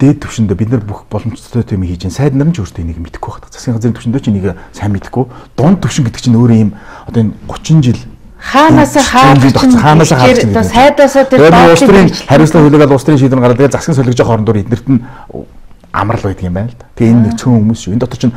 Дээд түвшиндээ бид нар бүх боломжтой юм хийж байна. Сайд нар нь ч өөртөө энийг мэдэхгүй байна. Засгийн газрын түвшиндөө ч энийг сайн мэдэхгүй. Дунд түвшин гэдэг чинь өөрөө ийм одоо энэ thirty жил хаанаас хаалж хаанаас хаалж одоо сайдаасаа тэр доотлын хариуцлага хүлээгээд улс төрийн шийдвэр гаргаад тэгээ засгийн солигжоо хоорондоор эднэрт нь амрал байдаг юм байна л да. Тэгээ энэ нэг цөөн хүмүүс шүү. Энэ дотор чинь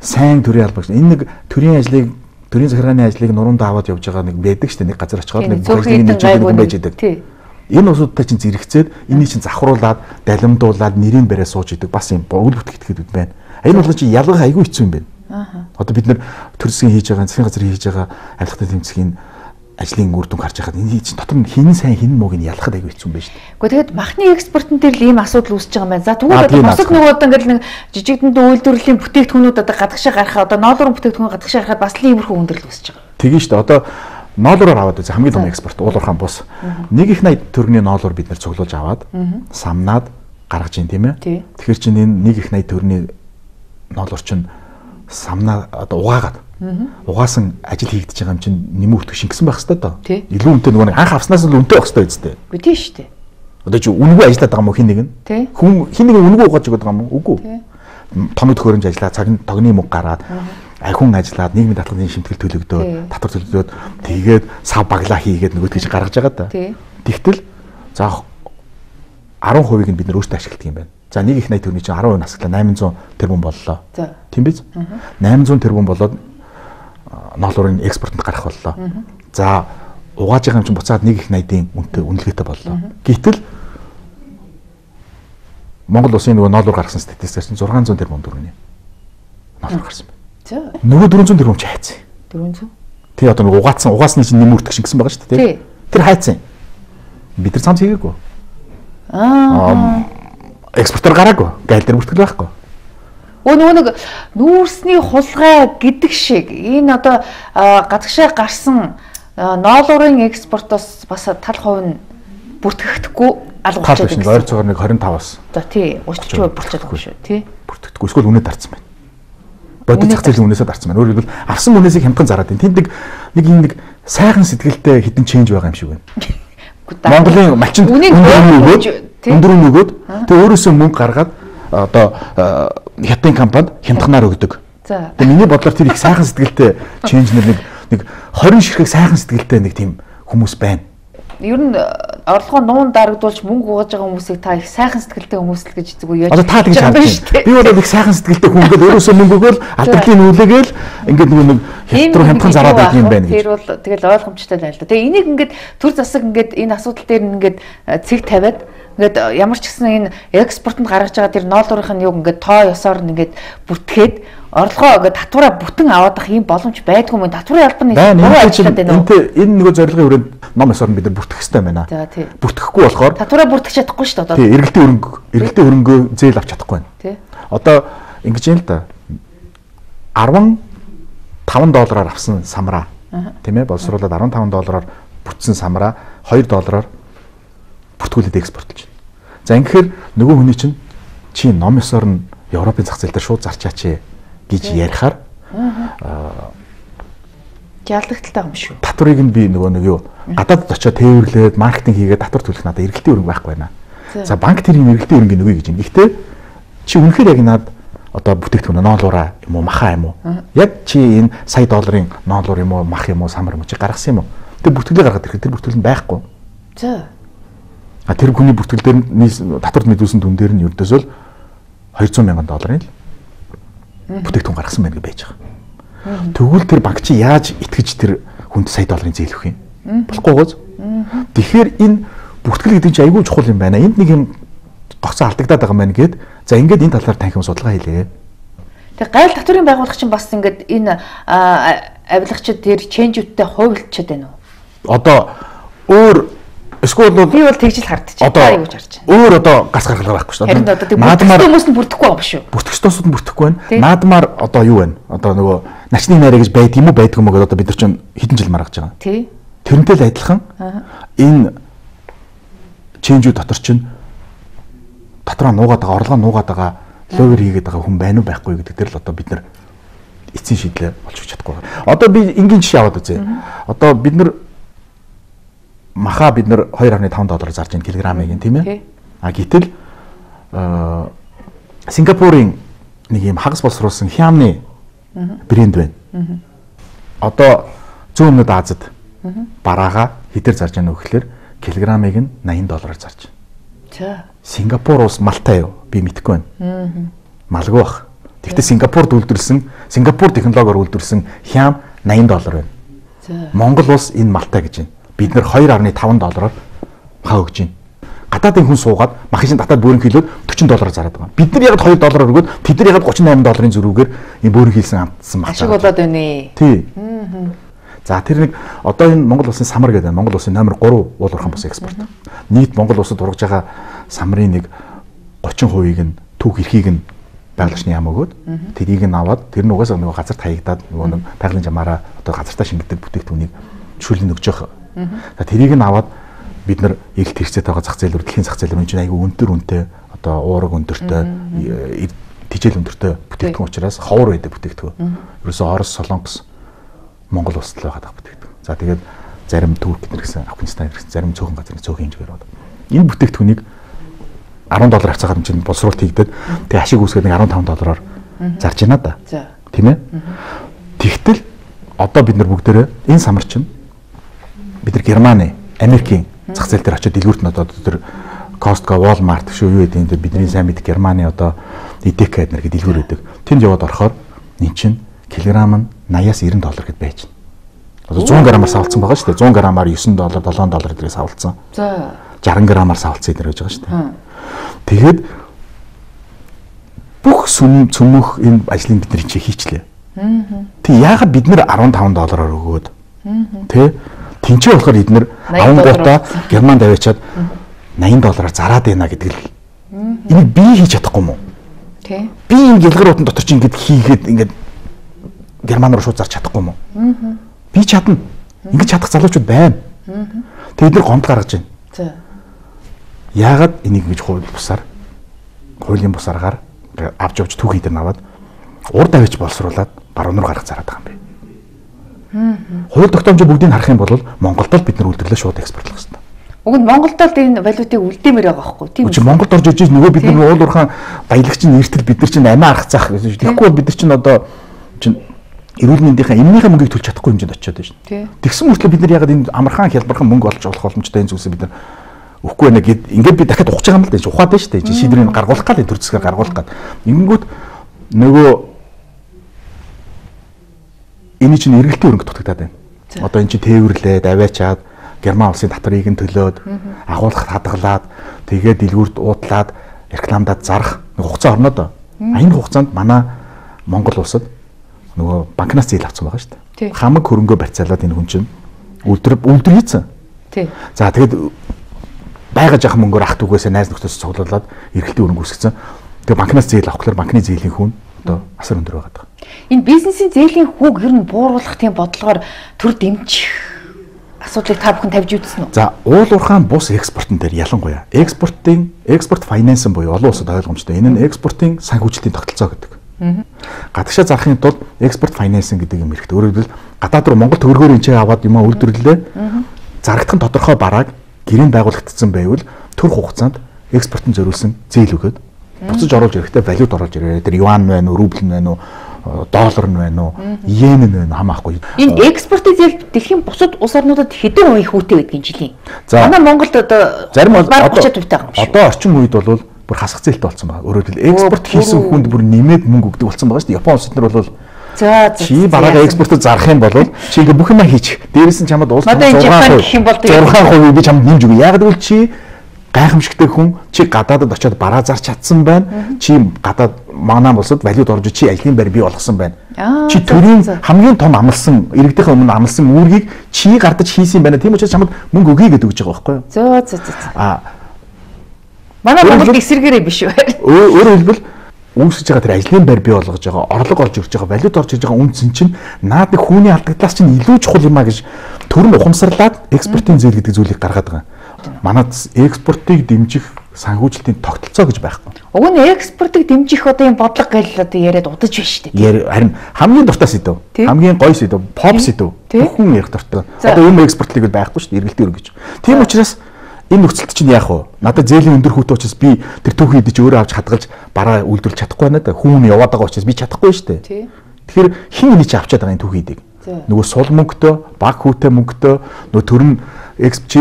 сайн төрийн албагч. Энэ нэг төрийн ажлыг төрийн захиргааны ажлыг нуруунд аваад явж байгаа нэг байдаг шүү дээ. Нэг газар очиход нэг бүхнийг нэгжүүлдэг юм байж байдаг. Энэ усуудтай чинь зэрэгцээд энийг чинь завхруулад, далимдуулаад нэрийг бариад сууж идэг бас юм үл бүтгэхэд байна. Энэ бол чинь ялгах айгүй хэцүү юм байна. Аа. Одоо бид нэр төр засгийн хийж байгаа, засгийн газрын хийж байгаа авилгатай тэмцэхийн ажлын үр дүнг харж байхад энэ чинь дотор нь хин сайн хин мууг нь ялахад айгүй хэцүү юм байна шүү дээ. Гэхдээ тэгэд махны экспортын дээр л ийм асуудал үүсэж байгаа юм байна. За тэгвэл одоо бусад нөгөө одоо ингээл нэг жижигдэнд үйлдвэрлэлийн бүтээгдэхүүнүүд одоо гадагшаа гарахаа одоо ноолорын бүтээгдэхүүн гадагшаа гарахад бас л иймэрхүү хүндрэл үүсэж байгаа. Тэгин шүү дээ. Одоо ноолороор аваад үзээ хамгийн том экспорт уулуурхаан бус. нэг их найд төгрөгийн ноолор бид нар цуглуулж аваад самнаад гаргаж ийн тийм ээ. Тэгэхээр чинь энэ нэг их найд төгрөгийн ноолор чинь самнаа одоо угаагаад угаасан ажил хийгдэж байгаа юм чинь нэмүү өртөг шингэсэн байх хэвээр доо. Илүү үнэтэй нөгөө анх авснаас л үнэтэй байх хэвээр үстэй. Үгүй тийм шүү дээ. Одоо чи үнэгүй ажиллаад байгаа юм уу хин нэг нь? Хүн хин нэг үнэгүй угааж байгаа юм уу? Үгүй. Томд хөрөмж ажиллаа, цагны тогны мөнгө гараад, ахиун ажиллаад, нийгмийн даатгалын шимтгэл төлөгдөөд, татвар төлөгдөөд тэгээд сав баглаа хийгээд нөгөөдгөө чи гаргаж байгаа да. Тэгтэл за ten percent-ийг нь бид нөр өөртөө ашигладаг юм байна. За нэг их найд төгрөгийн чинь ten percent насглаа eight hundred тэрбум боллоо. Тийм биз? eight hundred тэрбум болоод ноолорын экспортод гарах боллоо. За угааж байгаа юм чинь буцаад нэг их найдын үнэтэй үнэлгээтэй боллоо. Гэтэл Монгол улсын нөгөө ноолор гаргасан статистикс чинь six hundred тэрбум төгрөгийн ноолор гарсан байна. За нөгөө four hundred тэрбум ч хайцсан. four hundred. Тий одоо нөгөө угаацсан угаасны чинь нэмүртг шингэсэн байгаа шүү дээ. Тэр хайцсан. Бид нар цамц хийгээгүй. Аа. Экспортер гараагүй. Гайл дээр бүртгэл байхгүй. Өө нэг нүүрсний хулгай гэдэг шиг энэ одоо газагшаа гарсан ноолуурын экспортоос бас тал хувь нь бүртгэгдэхгүй алгуулчихдаг гэсэн. ойр цогоор нэг двадцать таваас. За тий урьдчилж болчихлоогүй шүү тий. Бүртгэгдэхгүй эсвэл үнэ дарцсан байна. Бодит зах зээлийн үнээсээ дарцсан байна. Өөрөөр хэлбэл авсан үнээсийг хямдхан зараад байна. Тэнд нэг нэг юм нэг сайхан сэтгэлтэй хідэн ченж байгаа юм шиг байна. Монголын малчин өндөр үнэ өгөөд тэгээ өөрөөсөө мөнгө гаргаад одоо хятадын компанид хямдханаар өгдөг. За. Тэгээ миний бодлоор тэр их сайхан сэтгэлтэй ченж нэг нэг двадцать ширхэг сайхан сэтгэлтэй нэг тийм хүмүүс байна. Ер нь орлогоо нуун дарагдуулж мөнгө угааж байгаа хүмүүсийг та их сайхан сэтгэлтэй хүмүүс л гэж зүгээр яаж. Одоо та тэгж харж байна. Би бол их сайхан сэтгэлтэй хүн ингээл өөрөөсөө мөнгө өгөөл алдрын нүүлээгээл ингээд нөгөө нэг хятад руу хямдхан зараад байдаг юм байна гэж. Тэр бол тэгэл ойлгомжтой байна л да. Тэгээ энийг ингээд төр засаг ингээд энэ асуудал дээр ингээд цэг тавиад ингээд ямар ч гэсэн энэ экспортод гаргаж байгаа тэр ноолуурын юг ингээд тоо ёсоор ингээд бүртгээд орлогоо ингээд татвараа бүтэн аваад ах юм боломж байдгүй юм. Татварын албаны буруу ажиллаад байна уу? Энд энэ нөгөө зорилгын хүрээнд ном ёсоор бид нар бүртгэх хэрэгтэй байна. За тий. Бүртгэхгүй болохоор татвараа бүртгэж чадахгүй шүү дээ одоо. Тий, эргэлтийн өрөнгө эргэлтийн өрөнгөө зээл авч чадахгүй байна. Тий. Одоо ингэж юм л да. фifty доллараар авсан самраа тийм ээ боловсруулаад fifty доллараар бүтсэн самраа two доллараар бүртгүүлээд экспортлж байна. За ингэхээр нөгөө хүний чинь чи ном ёсоор нь Европын зах зээл дээр шууд зарчаач гэж ярихаар аа ялгалттай юм шүү. Татварыг нь би нөгөө нэг юу гадаадд очиод тээвэрлээд маркетинг хийгээд татвар төлөх надад эргэлтийн өрөнгө байхгүй байна. За банк тэр юм эргэлтийн өрөнгө нөгөө гэж юм. Гэхдээ чи үнэхээр яг наад одоо бүтээгдэхүүн ноолуураа юм уу маха юм уу? Яг чи энэ сая долларын ноолуур юм уу мах юм уу самар юм уу чи гаргасан юм уу? Тэр бүртгэлээ гаргаад ирэхэд тэр бүртгэл нь байхгүй. За. А тэр хүний бүртгэл дээр нь татварт мэдүүлсэн дүн дээр нь ердөөсөө two hundred мянган долларын л бүтээгдэхүүн гаргасан байна гэж байж байгаа. Тэгвэл тэр банк чи яаж итгэж тэр хүнд сая долларын зээл өгөх юм? Болохгүй гоц. Тэгэхээр энэ бүртгэл гэдэг чинь айгүй чухал юм байна. Энд нэг юм гоцоо алдагдаад байгаа юм байна гэд. За ингээд энэ талаар танхим судалгаа хийлээ. Тэгээ гайл татварын байгууллага чинь бас ингээд энэ авилгачид тэр ченжүүдтэй хувилчаад байна уу? Одоо өөр эсвэл бол би бол тэгж л хардчих. Одоо юу гэж харж байна? Өөр одоо гас гаргалгаа байхгүй шүү дээ. Одоо наадмаар хүмүүс нь бүрдэхгүй байгаа шүү. Бүртгэж тосууд нь бүрдэхгүй байна. Наадмаар одоо юу байна? Одоо нөгөө начны найраа гэж байдаг юм уу байдгүй юм уу гэдэг одоо бид нар чинь хэдэн жил маргаж байгаа. Тий. Тэрнтэй л адилхан энэ ченжүүд дотор чинь татраа нуугаад байгаа, орлогоо нуугаад байгаа, ловер хийгээд байгаа хүн байна уу байхгүй гэдэг дээр л одоо бид нар эцсийн шийдлээ олж өгч чадахгүй. Одоо би энгийн жишээ аваад үзье. Одоо бид нар маха бид нар two point five доллар зарж байна килограммыг тийм ээ. А гэтэл Сингапурын нэг юм хагас боловсруулсан хямны брэнд байна. Одоо зүүн өмнөд Азад бараага хэдэр зарж байгаа нөх гэхээр килограммыг нь eighty доллараар зарж байна. За. Сингапур ус малтай юу? Би мэдэхгүй байна. Малгүй бах. Тэгвэл Сингапурд үйлдвэрлэсэн, Сингапур технологиор үйлдвэрлэсэн хям eighty доллар байна. За. Монгол улс энэ малтай гэж байна. Бид нэр two point five доллараар мах өгж байна. Гадаадын хүн суугаад махын татаад бөөрийн хилээд forty доллараар зараад байгаа. Бид нар яг two доллараар өгөөд тэд нар яг thirty-eight долларын зөрүүгээр энэ бөөрийн хилсэн амтсан мах. Ашиг болоод байна. Тий. За тэр нэг одоо энэ Монгол улсын самар гэдэг Монгол улсын номер three уул уурхайн бус экспорт. Нийт Монгол улсад ургаж байгаа самрын нэг thirty percent-ийг нь түүх эрхийг нь байгууллагчны яам өгөөд тэрийг нь аваад тэр нь угаасаа нөгөө газарт хаягдаад нөгөө нэг байгалийн жамаараа одоо газартаа шингэдэг бүтээгдэхүүнийг шүлэн өгж байгаа. За тэрийг нь аваад бид нар эрэлт хэрэгцээтэй байгаа зах зээл рүү дэлхийн зах зээл рүү чинь айгүй өндөр үнэтэй одоо уураг өндөртэй тижэл өндөртэй бүтээгдэхүүн учраас ховор байдаг бүтээгдэхүүн. Ерөөсөө Орос, Солонгос, Монгол улсад л байгаа бүтээгдэхүүн. За тэгээд зарим Турк гэсэн Афганистан гэсэн зарим цөөхөн газрын цөөхөн хэмжээгээр байна. Энэ бүтээгдэхүүнийг ten доллар хацаагаад чинь боловсруулалт хийгдээд тэгээ ашиг үүсгээд fifteen доллараар зарж байна да. Тийм ээ. Тэгтэл одоо бид нар бүгдээрээ энэ самар чинь бид нар Германы, Америкийн зах зээл дээр очиод дэлгүүрт нь одоо тэр Costco, Walmart шүү юу гэдэг энэ бидний сайн мэд Германы одоо Edeka эднэр гэдэг дэлгүүр өгдөг. Тэнд яваад орохоор эн чинь килограмм нь eighty-аас ninety доллар гэд байж байна. Одоо one hundred граммаар савлцсан байгаа шүү дээ. one hundred граммаар nine доллар, seven доллар гэдгийг савлцсан. За. sixty граммаар савлцсан эднэр гэж байгаа шүү дээ. Тэгээд бүх сүм цөмөх энэ ажлыг бид нар чи хийчлээ. Тэг яагаад бид нэр fifteen доллараар өгөөд тэ тэнцээ болохоор эднэр авангуудаа Германд аваачаад eighty доллараар зараад байна гэдэг л энийг би хийж чадахгүй юм уу? Тий. Би энэ гялгаруудын дотор чи ингэж хийгээд ингэж Герман руу шууд зарч чадахгүй юм уу? Аа. Би чадна. Ингэж чадах залуучууд байна. Аа. Тэгээд нэр гомд гаргаж байна. За. Яагаад энийг ингэж хууль бусаар хуулийн бусааргаар авч явж түүхий дээр наваад урд авч боловсруулад баруун руу гаргах зараад байгаа юм бэ. Аа. Хууль тогтоомжоо бүгдийг харах юм бол Монголд л бид нар үйлдвэрлэлээ шууд экспортлох хэрэгтэй. Уг нь Монголд л энэ валютыг үлдээмээр байгаа байхгүй тийм үү? Монголд орж иж нөгөө бид нар уул уурхаан баялагчийн нэртэл бид нар чинь амиа арах цаах гэсэн. Тэгэхгүй бол бид нар чинь одоо чинь эрүүл мэндийнхаа эмнийхээ мөнгийг төлж чадахгүй хэмжээнд очиод байна шүү. Тэгсэн мөртлөө бид нар ягаад энэ амархан хялбархан мөнгө олж олох боломжтой энэ зүйлсээ бид нар өгөхгүй байна гэд ингээд би дахиад ухаж байгаа юм л дээ. Ухаад байна шүү дээ. Шийдвэрийг гаргуулах гал төр зэсгээр гаргуулах гал. Ингэнгүүт нөгөө энэ чинь эргэлтийн өрөнгө дутагдаад байна. Одоо эн чинь тээвэрлээд аваачаад Герман улсын татварыг нь төлөөд агуулгад хадгалаад тэгээд дэлгүүрт уудлаад рекламадад зарах хугацаа орно доо. Энэ хугацаанд манай Монгол улсад нөгөө банкнаас зээл авсан байгаа шүү дээ. Хамаг хөрөнгөө барьцаалаад энэ хүн чинь үлдэр үлдэр хийцэн. Тий. За тэгээд байгаа жаахан мөнгөөр ах түгээсээ найз нөхдөс цуглуулад эргэлтийн өрөнгө үүсгэсэн. Тэгээд банкнаас зээл авах гэхээр банкны зээлийн хүн одоо асар өндөр байгаа даа. Энэ бизнесийн зээлийн хүүг ер нь бууруулах тийм бодлогоор төр дэмжих асуудлыг та бүхэн тавьж үзсэн үү? За, уул уурхаан бус экспортын дээр ялангуяа экспортын экспорт финанс буюу олон улсад ойлгомжтой. Энэ нь экспортын санхүүжилтийн тогтолцоо гэдэг. Гадагшаа зарахын тулд экспорт финансинг гэдэг юм хэрэгтэй. Өөрөөр хэлбэл гадаад руу Монгол төгрөгөөр энэ аваад юм үйлдвэрлэлээ зарагдах нь тодорхой барааг гэрээнд байгуулагдсан байвал төр хугацаанд экспортын зориулсан зээл өгөөд буцаж оруулж ирэхдээ валют оруулж ирээ. Тэр юан нь байна уу, рубль нь байна уу, доллар нь байна уу, йен нь байна хамаахгүй. Энэ экспортын зээл дэлхийн бусад улс орнуудад хэдэн хувийн хүүтэй байдгийг жилийн. Манай Монголд одоо зарим бараг тридцать хувь байгаа юм шиг. Одоо орчин үед бол бүр хасах зээлтэй болсон байна. Өөрөөр хэлбэл экспорт хийсэн хүнд бүр нэмээд мөнгө өгдөг болсон байгаа шүү дээ. Япон улсад нар бол за чи бараа экспортод зарах юм бол чи ингээ бүх юм хийчих. Дээрээс нь чамд улс зургаан хувийг би чамд нэмж өгье. Яг гэвэл чи гайхамшигтай хүн чи гадаадд очиод бараа зарч чадсан байна. Чи гадаад манай улсад валют орж чи ажлын байр бий болгосон байна. Чи төрийн хамгийн том амлсан иргэдийнхээ өмнө амлсан үүргийг чи гардаж хийсэн байна. Тийм учраас чамд мөнгө өгье гэдэг үг байгаа байхгүй юу? Зөө зөө зөө. А манай Монгол эсэргээрээ биш үү? Өөрөөр хэлбэл үүсгэж байгаа тэр ажлын байр бий болгож байгаа, орлого орж ирж байгаа, валют орж ирж байгаа үнцэн чинь наад нэг хүний алдагдлаас чинь илүү чухал юм а гэж төрн ухамсарлаад экспортын зээл гэдэг зүйлийг гаргаад байгаа. Манайд экспортыг дэмжих санхүүжилтийн тогтолцоо гэж байхгүй. Уг нь экспортыг дэмжих одоо юм бодлого гэл одоо яриад удаж байна шүү дээ. Харин хамгийн дуртай сэдв. Хамгийн гоё сэдв, pop сэдв. Бүхэн ярих дуртай. Одоо юм экспортлыг байхгүй шүү дээ, эргэлтийн өргөж. Тийм учраас энэ нөхцөлд чинь яах вэ? Надад зээлийн өндөр хүүтэй учраас би тэр түүхий идэж өөрөө авч хадгалж бараа үйлдвэрлэж чадахгүй байна да. Хүн яваад байгаа учраас би чадахгүй шүү дээ. Тэгэхээр хин энийг чи авчаад байгаа энэ түүхий идийг. Нөгөө сул мөнгөтэй, баг хүүтэй мөнгөтэй, нөгөө төрн эксп чи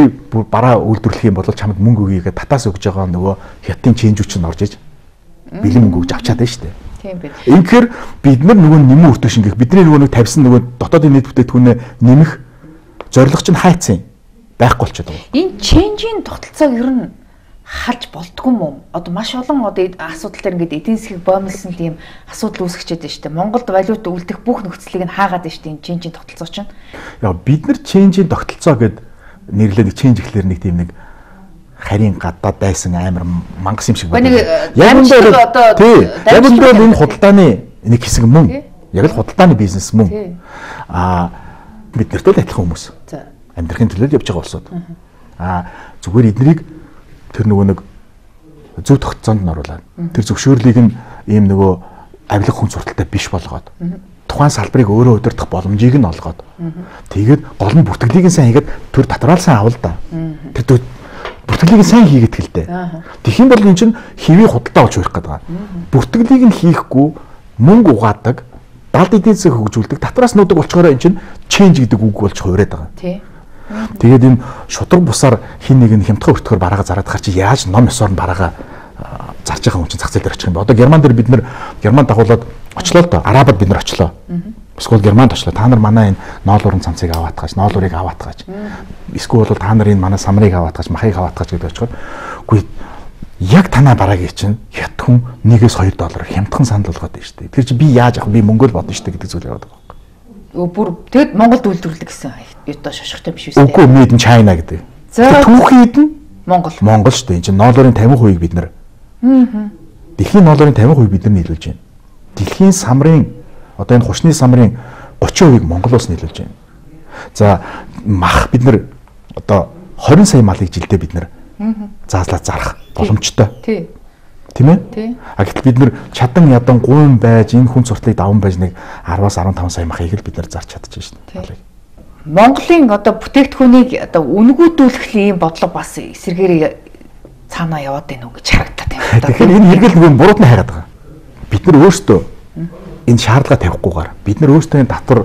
бараа үйлдвэрлэх юм бол чамд мөнгө өгье гэдэг татаас өгж байгаа нөгөө хятадын чэнжүүч нь орж иж бэлэн мөнгө өгж авчаад байна шүү дээ. Тийм бид. Инхээр бид нар нөгөө нэмэн өртөө шингэх бидний нөгөө нэг тавьсан нөгөө дотоодын нийт бүтээгдэхүүнээ нэмэх зорилго чинь хайцсан байхгүй болчиход байгаа. Энэ ченжийн тогтолцоог ер нь халж болдгүй юм уу? Одоо маш олон одоо асуудал дээр ингээд эдийн засгийг боомлсон тийм асуудал үүсгэж байгаа шүү дээ. Монголд валют үлдэх бүх нөхцөлийг нь хаагаад байна шүү дээ. Энэ ченжийн тогтолцоо чинь. Яа бид нар ченжийн тогтолцоо гэд нэрлээд ченж ихлээр нэг тийм нэг харийн гадаад дайсан амар мангас юм шиг байна. Яг энэ одоо яг энэ худалдааны нэг хэсэг мөн. Яг л худалдааны бизнес мөн. Аа бид нарт л адилхан хүмүүс. Амьдрахын төлөө явж байгаа улсууд. Аа зүгээр эднийг тэр нөгөө нэг зөв тогтцоонд нь оруулаад тэр зөвшөөрлийг нь ийм нөгөө авилга хүн сурталтай биш болгоод тухайн салбарыг өөрөө удирдах боломжийг нь олгоод тэгээд гол нь бүртгэлийг нь сайн хийгээд төр татвараа сайн авал да. Тэр бүртгэлийг нь сайн хийгээд хэлдэг. Тэгэх юм бол эн чинь хэвийн худалдаа болж хүрэх гээд байгаа. Бүртгэлийг нь хийхгүй мөнгө угаадаг, далд эдийн засаг хөгжүүлдэг, татвараас нуудаг болчгоороо эн чинь ченж гэдэг үг болж хувираад байгаа. Тий. Тэгээд энэ шудраг бусаар хин нэг нь хямдхан өртгөр бараага зараад хар чи яаж ном ёсоор нь бараага зарж байгаа хүн чинь зах зээл дээр очих юм бэ? Одоо Герман дээр бид нэр Германд дагуулад очлоо л доо. Арабад бид нар очлоо. Эсвэл Германд очлоо. Та нар манай энэ ноолуурын цамцыг аваад гаж, ноолуурыг аваад гаж. Эсвэл бол та нар энэ манай самрыг аваад гаж, махыг аваад гаж гэдэг очихоор үгүй яг танаа бараагийн чинь хят хүн нэгээс хоёр доллар хямдхан санал болгоод байна шүү дээ. Тэр чи би яаж авах би мөнгө л бодно шүү дээ гэдэг зүйл яваад байгаа. Бүр тэгэд Монголд үйлдвэрлэдэг гэсэн юутай шошготой биш үү? Үгүй made in China гэдэг. За түүхийд нь Монгол. Монгол шүү дээ. Энэ чинь ноолуурын фifty хувийг бид нар. Аа. Дэлхийн долларын тамхи хувь бид нар нийлүүлж байна. Дэлхийн самрын одоо энэ хушны самрын гучин хувийг Монголоос нийлүүлж байна. За мах бид нар одоо хорин сая малыг жилдээ бид нар заазлаад зарах боломжтой. Тий. Тийм ээ? Тий. А гэтэл бид нар чадан ядан гуйн байж энэ хүн суртлыг даван байж нэг араваас арван таван сая махыг л бид нар зарч чадчихжээ шүү дээ. Монголын одоо бүтээгдэхүүнийг одоо үнгүүдүүлэх ийм бодлого бас эсэргээр цаанаа яваад байна уу гэж харагдаад байна. Тэгэхээр энэ хэрэгэл нэг бурууд нь хайгаад байгаа. Бид нар өөрсдөө энэ шаардлага тавихгүйгээр бид нар өөрсдөө энэ татвар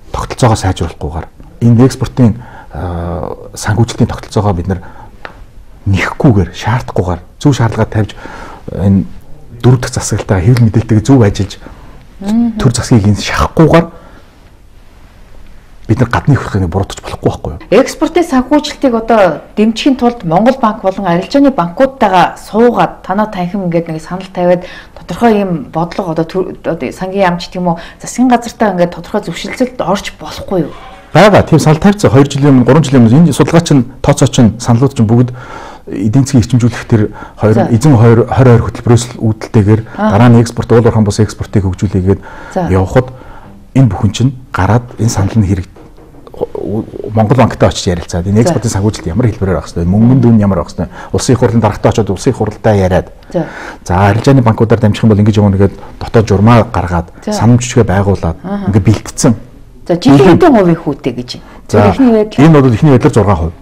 тогтолцоогоо сайжруулахгүйгээр энэ экспортын санхүүжилтийн тогтолцоогоо бид нар нэхгүйгээр шаардахгүйгээр зөв шаардлага тавьж энэ дөрөв дэх засаглалтаа хэвлэл мэдээлэлтэйг зөв ажиллаж төр засгийг энэ шахахгүйгээр бид нар гадны хөрхийг буруутгах болохгүй байхгүй юу? Экспортын санхүүжилтийг одоо дэмжихийн тулд Монгол банк болон арилжааны банкудтайгаа суугаад танаа танхим ингээд нэг санал тавиад тодорхой юм бодлого одоо сангийн яамч гэх юм уу засгийн газартаа ингээд тодорхой зөвшөлтөд орж болохгүй юу? Бага тийм санал тавьцсан хоёр жилийн өмнө гурван жилийн өмнө энэ судалгаа чинь тооцоо чинь саналууд чинь бүгд эдийн засгийн эрчимжүүлэх тэр хоёр эзэн хоёр хоёр хөтөлбөрөөс үүдэлтэйгээр дараа нь экспорт уул уурхайн бус экспортыг хөгжүүлээгээд явхад энэ бүхэн чинь гараад энэ санал нь хэрэг Монгол банктай очиж ярилцаад энэ экспортын санхүүжилт ямар хэлбэрээр авах хэрэгтэй, мөнгөнд үн ямар авах хэрэгтэй, улсын их хурлын дарагтай очоод улсын их хурлаа яриад. За арилжааны банкудаар дамжих юм бол ингэж явна гэдэг дотоод журмаа гаргаад, санамж жижигэ байгуулад ингээ бэлтгэсэн. За жилийн хэдэн хувийн хүүтэй гэж. За энэ бол ихний байдлаар зургаан хувь.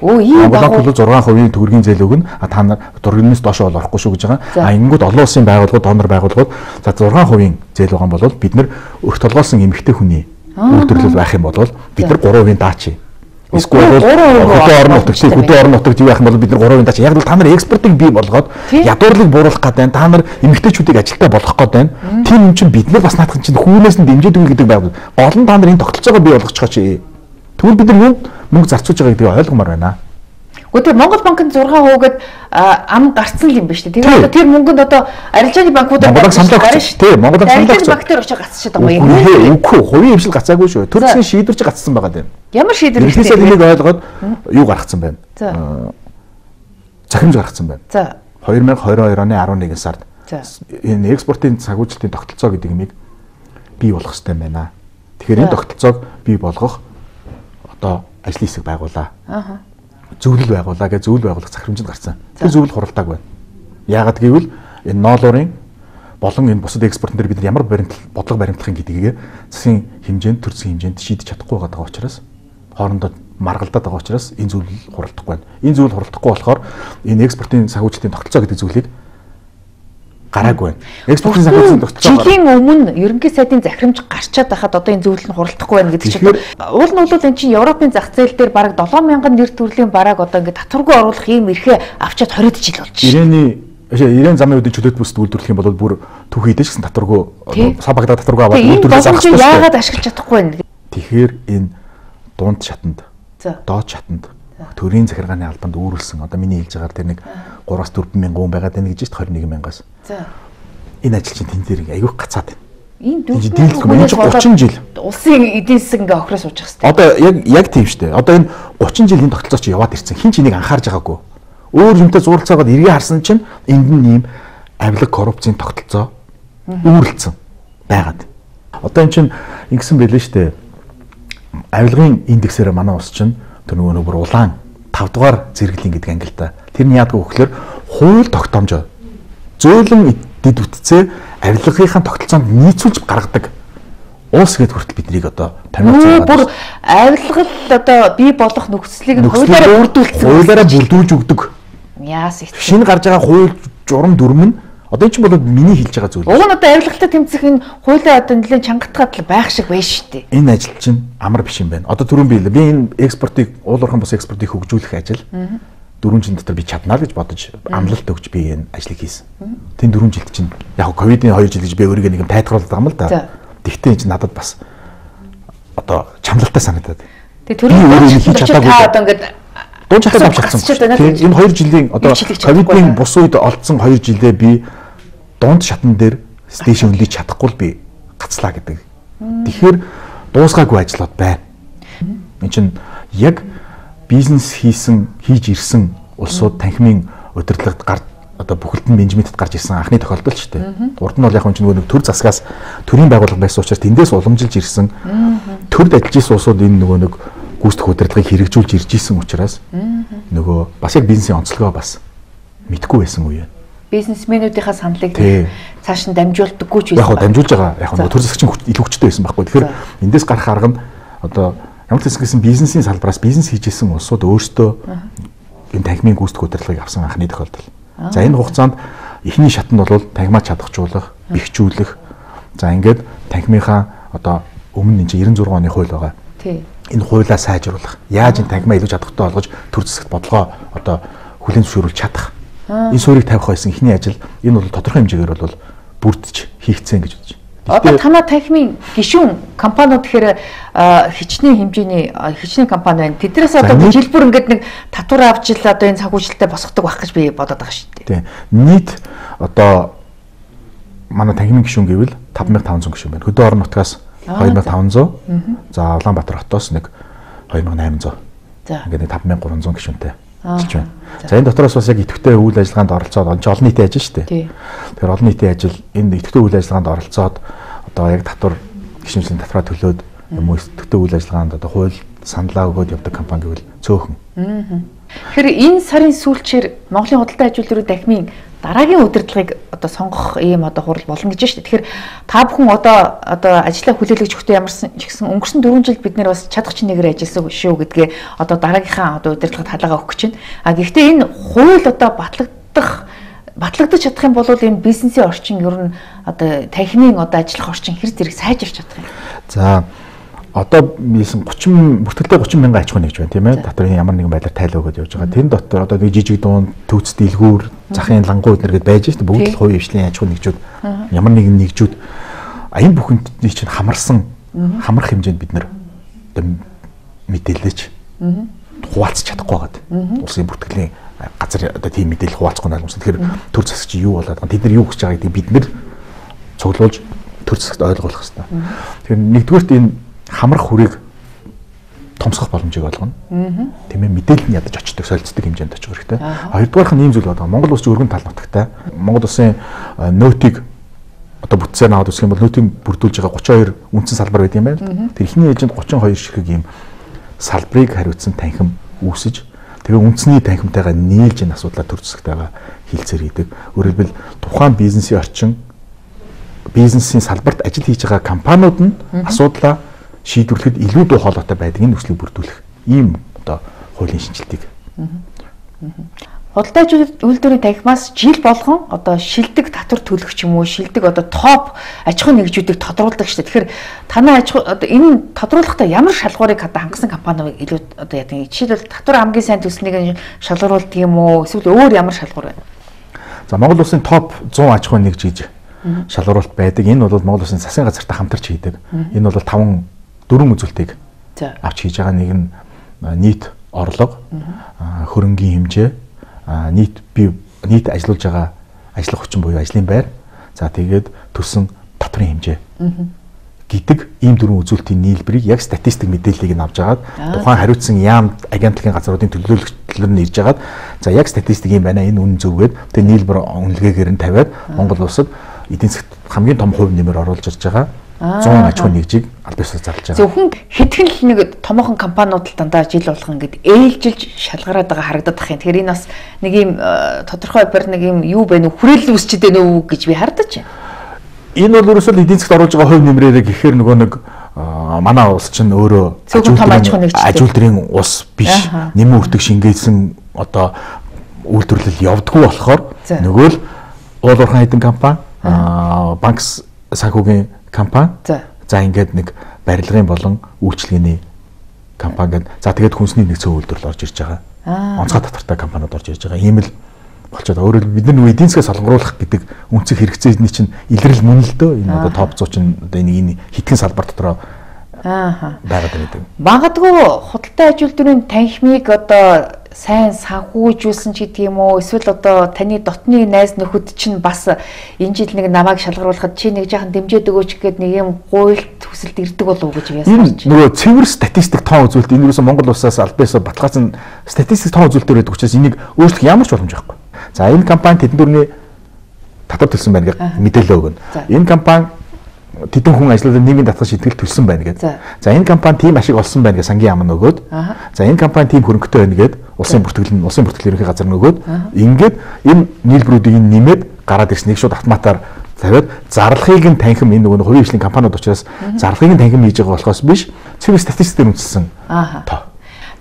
Оо ийм банк бол зургаан хувийн төгрөгийн зээл өгнө. А та нар дөрвөөс доош бол орохгүй шүү гэж байгаа. А ингэнгүүт олон улсын байгууллагууд, донор байгууллагууд за зургаан хувийн зээл байгаа бол бид нар өрх толгоосон эмэгтэй хүний үйлдвэрлэл байх юм бол бид нар гурван хувийн даачи. Эсвэл бол хөдөө орон нутагт хөдөө орон нутагт юу байх юм бол бид нар гурван хувийн даачи. Яг л та нар экспортыг бий болгоод ядуурлыг бууруулах гэдэг байна. Та нар эмэгтэйчүүдийг ажилдаа болгох гэдэг байна. Тийм юм чинь бид нар бас наадах чинь хүүнээс нь дэмжиж өгнө гэдэг байв. Гол нь та нар энэ тогтолцоогоо бий болгочих чи. Тэгвэл бид нар юунд мөнгө зарцуулж байгааг би ойлгомоор байна. Гэхдээ Монгол банкнд зургаан хуугаад ам гарцсан юм байна шүү дээ. Тэгээд одоо тэр мөнгөнд одоо арилжааны банкудаар Монгол саналаа гарна шүү. Тийм, Монгол саналаа гарна. Банк дээр очиж гацчихад байгаа юм. Үгүй, хувийн хвшил гацаагүй шүү. Төр засгийн шийдвэрч гацсан байгаа юм. Ямар шийдвэр вэ? Эхнээсээ энийг ойлгоод юу гаргацсан байна? Захирамж гаргацсан байна. За. хоёр мянга хоёр хоёр оны арван нэгэн сард энэ экспортын санхүүжилтийн тогтолцоо гэдэг юмыг бий болгох хэрэгтэй байна. Тэгэхээр энэ тогтолцоог бий болгох одоо ажлын хэсэг байгуулаа. Аха. Зөвлөл байгуулаа гэж зөвлөл байгуулах захирамжид гарсан. Тэр зөвлөл хуралдааг байна. Яагаад гэвэл энэ ноолуурын болон энэ бусад экспортн дээр бид нар ямар баримтлал бодлого баримтлахын гэдгийг засгийн хэмжээнд төр засгийн хэмжээнд шийдэж чадахгүй байгаа учраас хоорондоо маргалдаад байгаа учраас энэ зөвлөл хуралдахгүй байна. Энэ зөвлөл хуралдахгүй болохоор энэ экспортын санхүүжилтийн тогтолцоо гэдэг зүйлийг гараагүй байна. Экспортын санхүүжилтийн тогтолцоо жилийн өмнө ерөнхий сайдын захирамж гарчаад байхад одоо энэ зөвлөл нь хуралдахгүй байна гэдэг чинь уул нь бол энэ чинь Европын зах зээл дээр бараг долоон мянган нэр төрлийн бараг одоо ингээд татваргүй оруулах ийм эрхээ авчаад хоригд жил болж байна. Ирээний Ирээн замын үеийн чөлөөт бүсд үйлдвэрлэх юм бол бүр төв хийдэж гэсэн татваргүй сабагда татваргүй аваад үйлдвэрлэж зарах хэрэгтэй. Яагаад ашиглаж чадахгүй байна? Тэгэхээр энэ дунд шатанд доод шатанд төрийн захиргааны албанд үүрэлсэн одоо миний хэлж байгаагаар тэр нэг гураас дөрвөн мянган хүн байгаад байна гэж байна двадцать мянгаас. За. Энэ ажил чинь тэн дээр айгүйх гацаад байна. Энэ дөрвөн гучин жил улсын эдийн засаг ингээ охроос суучих хэрэгтэй. Одоо яг яг тийм шүү дээ. Одоо энэ гучин жилийн тогтолцоо чи яваад ирсэн. Хин ч энийг анхаарж байгаагүй. Өөр юмтай зуралцаагаад эргээ харсан чинь энд нь ийм авилга коррупцийн тогтолцоо үүрэлцэн байгаад. Одоо эн чинь ингэсэн байлээ шүү дээ. Авилгын индексээр манай улс чинь тэр нөгөө нэг бүр улаан тав дугаар зэрэглэлийн гэдэг ангилалтай. Тэр нь яадаг вэ гэхээр хууль тогтоомжоо зөөлөн дэд бүтцээ авилгынхаа тогтолцоонд нийцүүлж гаргадаг улс гэдэг хүртэл биднийг одоо таниулж байгаа. Бүр авилгал одоо бий болох нөхцөлийг хуулиараа бүрдүүлсэн. Хуулиараа бүрдүүлж өгдөг. Яас их. Шинэ гарч байгаа хууль журам дүрм нь одоо энэ ч бол миний хэлж байгаа зүйл. Уг нь одоо авилгалтай тэмцэх энэ хуулиа одоо нэлээд чангатгаад байх шиг байна шүү дээ. Энэ ажил чинь амар биш юм байна. Одоо түрүүн би би энэ экспортыг уул уурхайн бус экспортыг хөгжүүлэх ажил дөрвөн жил дотор би чаднаа гэж бодож амлалт өгч би энэ ажлыг хийсэн. Тэн дөрвөн жилд чинь яг ковидын хоёр жил гэж би өөрийгөө нэг юм тайлбарлаад байгаа юм л да. Тэгтээ энэ чинь надад бас одоо чамлалтай санагдаад. Тэгээ түрүүн хийж чадаагүй. Та одоо ингээд дуун чатаа авчихсан. Энэ хоёр жилийн одоо ковидын бус үед олдсон хоёр жилдээ би дунд шатан дээр стейшн өнлөж чадахгүй л би гацлаа гэдэг. Тэгэхээр дуусгаагүй ажлууд байна. Энд чинь яг бизнес хийсэн хийж ирсэн улсууд танхимын удирдлагад гар одоо бүхэлд нь менежментэд гарч ирсэн анхны тохиолдол ч тийм. Урд нь бол яг энэ нэг төр засгаас төрийн байгууллага байсан учраас тэндээс уламжилж ирсэн. Төрд ажиллаж ирсэн улсууд энэ нөгөө нэг гүйцэтгэх удирдлагыг хэрэгжүүлж ирж исэн учраас нөгөө бас яг бизнесийн онцлогоо бас мэдгүй байсан үе. Бизнесмэнүүдийнхаа саналыг цааш нь дамжуулдаггүй ч байсан. Яг дамжуулж байгаа. Яг нөгөө төр засгийн илүү хүчтэй байсан байхгүй. Тэгэхээр эндээс гарах арга нь одоо ямар ч хэсгээс бизнесийн салбараас бизнес хийж исэн улсууд өөрсдөө энэ танхимын гүйцэтгэх удирдлагыг авсан анхны тохиолдол. За энэ хугацаанд эхний шатнд бол танхимаа чадахжуулах, бэхжүүлэх. За ингээд танхимынхаа одоо өмнө энэ девяносто шесть оны хууль байгаа. Тий. Энэ хуулиа сайжруулах. Яаж энэ танхимаа илүү чадахтай болгож төр засагт бодлогоо одоо хүлээн зөвшөөрүүлж чадах. Энэ суурийг тавих байсан эхний ажил энэ бол тодорхой хэмжээгээр бол бүрдэж хийгдсэн гэж бодож байна. Одоо танаа танхимын гишүүн компаниуд гэхээр хичнээн хэмжээний хичнээн компани байна. Тэднээс одоо жилбэр ингээд нэг татвар авч ил одоо энэ санхүүжилтөд босгодог байх гэж би бодоод байгаа шүү дээ. Тийм. Нийт одоо манай танхимын гишүүн гэвэл тавд мянга таван зуун гишүүн байна. Хөдөө орон нутгаас хоёр мянга таван зуун. За Улаанбаатар хотоос нэг хоёр мянга найман зуун. За ингээд тавд мянга гурван зуун гишүүнтэй ажиллаж байна. За энэ дотроос бас яг идэвхтэй үйл ажиллагаанд оролцоод энэ олон нийтийн ажил шүү дээ. Тэгэхээр олон нийтийн ажил энэ идэвхтэй үйл ажиллагаанд оролцоод одоо яг татвар гишүүнсийн татвараа төлөөд юм уу идэвхтэй үйл ажиллагаанд одоо хууль саналаа өгөөд явдаг компани гэвэл цөөхөн. Тэгэхээр энэ сарын сүүлчээр Монголын худалдаа аж үйлдвэрийн танхимын дараагийн удирдлагыг одоо сонгох ийм одоо хурал болно гэж байна шүү дээ. Тэгэхээр та бүхэн одоо одоо ажлаа хүлээлгэж өгөхдөө ямарсан ч гэсэн өнгөрсөн дөрвөн жил бид нэр бас чадах чинээгээр ажилласан шүү гэдгээ одоо дараагийнхаа одоо удирдлагад хаалгаа өгөх чинь. А гэхдээ энэ хууль одоо батлагдах батлагдаж чадах юм бол энэ бизнесийн орчин ер нь одоо танхимын одоо ажиллах орчин хэр зэрэг сайжирч чадах юм. За одоо ийсэн тридцать бүртгэлтэй тридцать мянган аж ахуй нэгж байна тийм ээ. Доторын ямар нэгэн байдлаар тайлаа өгöd явж байгаа. Тэн дотор одоо нэг жижиг дуун төвц дэлгүүр захын лангуу эднэр гээд байж шүү дээ. Бүгд л хувийн хвшлийн аж ахуй нэгжүүд ямар нэгэн нэгжүүд аян бүхний чинь хамарсан хамрах хэмжээнд бид нэр мэдээлэлч хуваалцах чадахгүй байгаад. Улсын бүртгэлийн газар одоо тийм мэдээлэл хуваалцахгүй наалмсан. Тэгэхээр төр засагч юу болоод байгаа. Тэд нар юу гэж байгааг гэдэг бид нэр цуглуулж төр засагт ойлгуулах хэрэгтэй. Тэгэхээр нэгдүгээрт энэ хамрах хүрийг томсгох боломжийг олгоно. Тийм ээ мэдээлэл нь ядаж очдог, солилцдог хэмжээнд очих хэрэгтэй. Хоёрдугаарх нь ийм зүйл байна. Монгол улс өргөн тал нутагтай. Монгол улсын нөөтийг одоо бүтцээр наваад үсэх юм бол нөөтийг бүрдүүлж байгаа тридцать хоёр үндсэн салбар байт юм байна. Тэр ихний ээжинд тридцать хоёр ширхэг ийм салбарыг хариуцсан танхим үүсэж тэгээ үндэсний танхимтайгаа нийлж энэ асуудлаа төр засагтайгаа хилцээр хийдэг. Өөрөөр хэлбэл тухайн бизнесийн орчин бизнесийн салбарт ажил хийж байгаа компаниуд нь асуудлаа шийдвэрлэхэд илүү дуу хоолойтой байдаг энэ нөхцөлийг бүрдүүлэх ийм одоо хуулийн шинжилтийг. Худалдаа аж үйлдвэрийн танхимаас жил болгон одоо шилдэг татвар төлөх ч юм уу шилдэг одоо топ аж ахуй нэгжүүдийг тодруулдаг шүү дээ. Тэгэхээр танай аж ахуй одоо энэ тодруулахдаа ямар шалгуурыг одоо хангасан компани илүү одоо яадаг. Жишээлбэл татвар хамгийн сайн төлснийг шалгаруулдаг юм уу эсвэл өөр ямар шалгуур байна? За Монгол улсын топ зуун аж ахуй нэгж гэж шалгуулалт байдаг. Энэ бол Монгол улсын засгийн газартай хамтарч хийдэг. Энэ бол таван дөрвөн үзүүлэлтийг авч хийж байгаа. Нэг нь нийт орлого, хөрөнгийн хэмжээ, нийт бие нийт ажиллаж байгаа ажиллах хүчин буюу ажлын байр, за тэгээд төлсөн татварын хэмжээ гэдэг ийм дөрвөн үзүүлэлтийн нийлбэрийг яг статистик мэдээллийг нь авч агаад тухайн хариуцсан яам агентлагийн газруудын төлөөлөгчлөр нь ирж агаад за яг статистик юм байна, энэ үнэн зөвгээд тэгээд нийлбэр үнэлгээгээр нь тавиад Монгол улсад эдийн засгт хамгийн том хувь нэмэр оруулж ирж байгаа зуун аж ахуй нэгжийг аль биесээр зарлаж байгаа. Зөвхөн хэдхэн л нэг томоохон компаниуд л дандаа жил болгон ингээд ээлжилж шалгараад байгаа харагдаад байгаа юм. Тэгэхээр энэ бас нэг юм тодорхой бар нэг юм юу байна уу хүрээлэл үүсчихэд байна уу гэж би хардаж байна. Энэ бол ерөөсөө эдийн засгт оруулж байгаа хувь нэмрээрээ гэхээр нөгөө нэг манай улс чинь өөрөө аж үйлдвэрийн ус биш нэмэн үртэг шингээсэн одоо үйлдвэрлэл явдггүй болохоор нөгөө л уулуурхан хэдэн компани банк санхүүгийн компани за ингээд нэг барилгын болон үйлчилгээний компани гэдэг. За тэгээд хүнсний нэг цөөн үйлдвэрлэл орж ирж байгаа. Онцгой татвартай компаниуд орж ирж байгаа. Ийм л болчиход байгаа. Өөрөөр бид нар эдийн засгаас солонгоруулах гэдэг үнцэг хэрэгцээний чинь илрэл мөн л дөө. Энэ одоо топ суу чинь одоо энэ хитгэн салбар дотроо ааха байгаад байдаг. Магадгүй худалдаа аж үйлдвэрийн танхимыг одоо сайн санхүүжүүлсэн ч гэдэг юм уу эсвэл одоо таны дотны найз нөхөд чинь бас энэ жил нэг намайг шалгаруулахад чи нэг жаахан дэмжээд өгөөч гэхэд нэг юм гуйлт төсөлд ирдэг болов уу гэж би ясарч. Нөгөө цэвэр статистик тоон үзүүлэлт энэ юусэн Монгол улсаас аль биесээр баталгаажсан статистик тоон үзүүлэлтээр байдаг учраас энийг өөрчлөх ямар ч боломж байхгүй. За энэ компани тэдэн дөрвний татвар төлсөн байна гэж мэдээлэл өгнө. Энэ компани тэдэн хүн ажиллаад нийгмийн татвар шийтгэл төлсөн байна гэдэг. За энэ компани тийм ашиг олсон байна гэж сангийн яам нь өгөөд. За энэ компани тийм хөрөнгөтэй байна гэд улсын бүртгэл нь улсын бүртгэл ерөнхий газар нь өгөөд ингээд энэ нийлбэрүүдийг нэмээд гараад ирснийг шууд автоматар тавиад зарлахыг нь танхим энэ нөгөө хувийн хвшлийн компаниуд учраас зарлахыг нь танхим хийж байгаа болохоос биш цэвэр статистикээр үндэслэн тоо.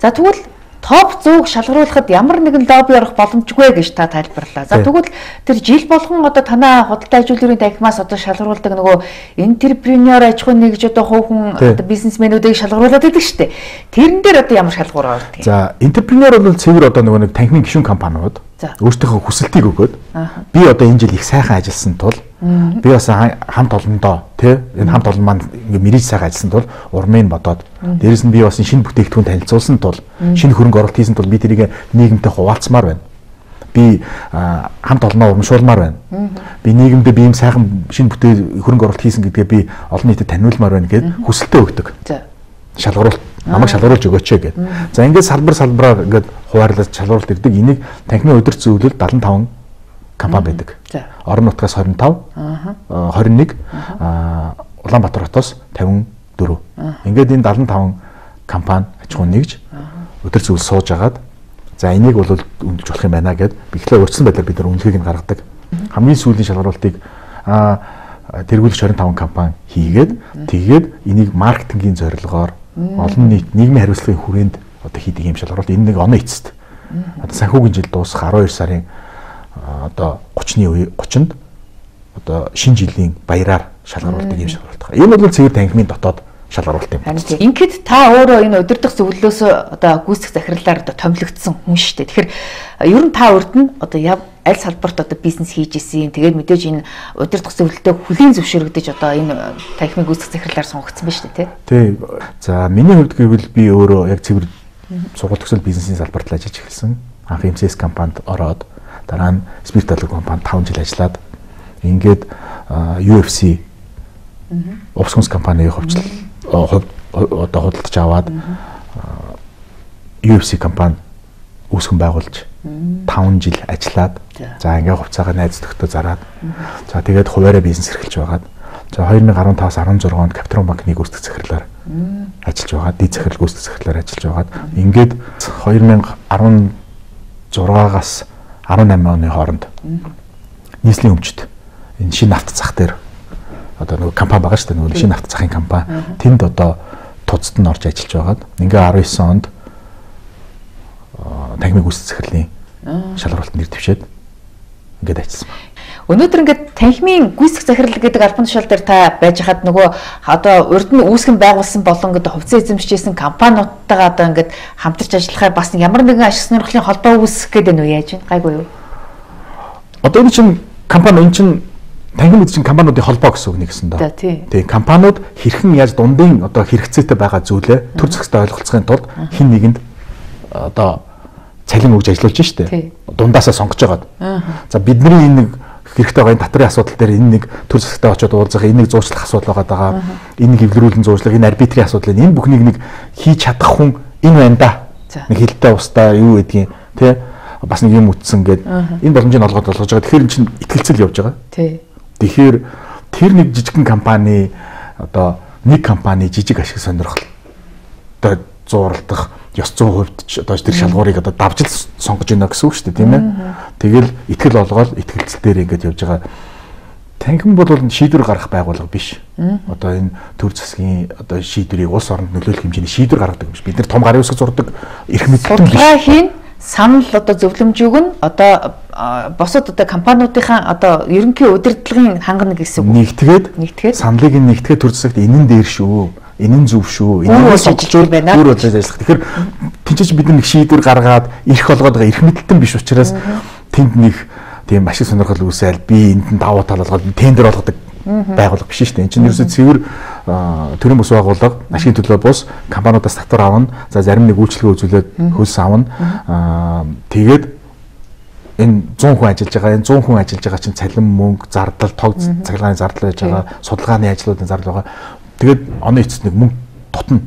За тэгвэл топ зүүг шалгаруулахад ямар нэгэн лобби орох боломжгүй гэж та тайлбарлаа. За тэгвэл тэр жил болгон одоо танай худалдаа ажилтны танхимаас одоо шалгаруулдаг нөгөө энтерпренеур аж ахуйн нэгж одоо хувь хүн одоо бизнесмэнүүдийг шалгаруулад байдаг шүү дээ. Тэрэн дээр одоо ямар шалгуур ордог юм? За энтерпренеур бол цэвэр одоо нөгөө нэг танхимын гишүүн компаниуд өөрсдийнхөө хүсэлтийг өгөөд би одоо энэ жил их сайхан ажилласан тул би бас хамт олондоо тий энэ хамт олон маань ингээ мэрэж сайхан ажилласан тул урмыг бодоод дээрэс нь би бас шинэ бүтээгдэхүүн танилцуулсан тул шинэ хөрөнгө оруулалт хийсэн тул би тэрийг нийгэмтэй хуваалцмаар байна. Би хамт олноо урамшуулмаар байна. Би нийгэмдээ би юм сайхан шинэ бүтээг хөрөнгө оруулалт хийсэн гэдгээ би олон нийтэд таниулмаар байна гэд хүсэлтээ өгдөг. Шалгаруулалт намайг шалгаруулж өгөөч гэд. За ингээд салбар салбараар ингээд хуваарлаж шалгаруулалт ирдэг. Энийг танхимын удирд зөвлөл седемдесет и пять компани байдаг. Орон нутгаас двадцать пять, двадцать one, Улаанбаатар хотоос фifty four. Ингээд энэ седемдесет и пять компани аж ахуйн нэгж удирд зөвлөл сууж агаад за энийг бол үнэлж болох юм байна гэд бихлээ урьдчилан байдлаар бид нар үнэлгээг нь гаргадаг. Хамгийн сүүлийн шалгаруулалтыг тэргүүлж двадцать five компани хийгээд тэгээд энийг маркетингийн зорилгоор олон нийт нийгмийн хариуцлагын хүрээнд одоо хийдэг юм шалгаруулалт энэ нэг оны эцэст. Одоо санхүүгийн жил дуусах twelve сарын одоо thirty-ны үе thirty-нд одоо шинэ жилийн баяраар шалгаруулдаг юм шалгаруулалт. Энэ бол цэвэр танхимын дотоод шалгаруулалт юм. Ингээд та өөрөө энэ удирдах зөвлөлөөс одоо гүйцэх захирлаар одоо томилогдсон хүн шүү дээ. Тэгэхээр ер нь та урд нь одоо аль салбарт одоо бизнес хийж исэн. Тэгээд мэдээж энэ удирдах зөвлөлтөд хүлийн зөвшөөрөгдөж одоо энэ танхимын гүйцэх захирлаар сонгогдсон байна шүү дээ, тий. За миний хувьд гэвэл би өөрөө яг цэвэр сургууль төгсөл бизнесийн салбарт ажиллаж эхэлсэн. Анх эм си эс компанид ороод дараа нь Спирт алга компанид five жил ажиллаад ингээд ю эф си Увс хүнс компанийн хувьчлал одоо худалдаж аваад ю эф си компани үүсгэн байгуулж five жил ажиллаад за ингээ хувьцаагаа найз нөхдөд зараад за тэгээд хуваараа бизнес эрхэлж байгаад за twenty fifteen-аас sixteen онд Капитрон банкны гүйцэтгэх захирлаар ажиллаж байгаа. Дэд захирал гүйцэтгэх захирлаар ажиллаж байгаад ингээд twenty sixteen-аас eighteen оны хооронд нийслэлийн өмчт энэ шинэ нафт зах дээр одоо нөгөө компани байгаа шүү дээ, нөгөө шинэ нафт захын компани тэнд одоо туцад нь орж ажиллаж байгаад ингээ nineteen онд танхимын гүйцэтгэх захирлын шалгаруулалт нэр дэвшээд ингээд ажилласан байна. Өнөөдөр ингээд танхимын гүйцэтгэх захирал гэдэг албан тушаал дээр та байж хаад нөгөө одоо урд нь үүсгэн байгуулсан болон гэдэг хувьцаа эзэмшижсэн компаниудтайгаа одоо ингээд хамтарч ажиллахаар бас ямар нэгэн ашиг сонирхлын холбоо үүсгэх гэдэг нь юу яаж вэ? Гайгүй юу? Одоо энэ чинь компани энэ чинь танхим эзэмшин компаниудын холбоо гэсэн үг нэгсэн доо. Тийм компаниуд хэрхэн яаж дундын одоо хэрэгцээтэй байгаа зүйлээ төр зохистой ойлголцохын тулд хин нэгэнд одоо цалин өгж ажиллаж штэ. Дундаасаа сонгож байгаад. За бидний энэ нэг хэрэгтэй байгаа энэ татрын асуудал дээр энэ нэг төр зохистой очиод уулзах, энэ нэг зуучлах асуудал байгаа. Энэ нэг эвлэрүүлэн зуучлах, энэ арбитрийн асуудал энэ бүхнийг нэг хийж чадах хүн энэ байна да. Нэг хилтэй устаа юу гэдгийг тий бас нэг юм үтсэн гээд энэ боломжийг олгоод болгож байгаа. Тэгэхээр энэ чинь итгэлцэл явж байгаа. Тий. Тэгэхээр тэр нэг жижигхэн компани одоо нэг компани жижиг ашиг сонирхол одоо зууралдах ёс зүйн хувьд ч одоо тэр шалгуурыг одоо давжил сонгож байна гэсэн үг шүү дээ, тийм ээ. Тэгэл итгэл олгоод итгэлцэл дээр ингэж явж байгаа. Танхим бол шийдвэр гаргах байгууллага биш. Одоо энэ төр засгийн одоо шийдвэрийг улс оронд нөлөөлөх хэмжээний шийдвэр гаргадаг юм биш. Бид нар том гарын үсэг зурдаг эрх мэдэлтэн биш. Судалгаахийн санал одоо зөвлөмжийг нь одоо босод одоо компаниудынхаа одоо ерөнхий удирдлагын хангана гэсэн үг. Нэгтгээд нэгтгээд саналыг нь нэгтгээд төр засагт энэн дээр шүү. Энэ нь зөв шүү. Энэ нь сонгож байна. Өөр болж ажиллах. Тэгэхээр тэнцэж бид нэг шийдвэр гаргаад эрх олгоод байгаа эрх мэдэлтэн биш учраас тэнд нэг тийм ашиг сонирхол үүсэл би энд нь давуу тал олгоод тендер олгодог байгууллага биш шүү дээ. Энэ чинь ерөөсөө цэвэр төрийн бус байгууллага, ашигын төлөө бус компаниудаас татвар авна. За зарим нэг үйлчлэгээ үзүүлээд хөлс авна. Тэгээд энэ one hundred хүн ажиллаж байгаа. Энэ one hundred хүн ажиллаж байгаа чинь цалин, мөнгө, зардал, тог цахилгааны зардал байж байгаа. Судалгааны ажлуудын зардал байгаа. Тэгээд оны эцэст нэг мөнгө дутна.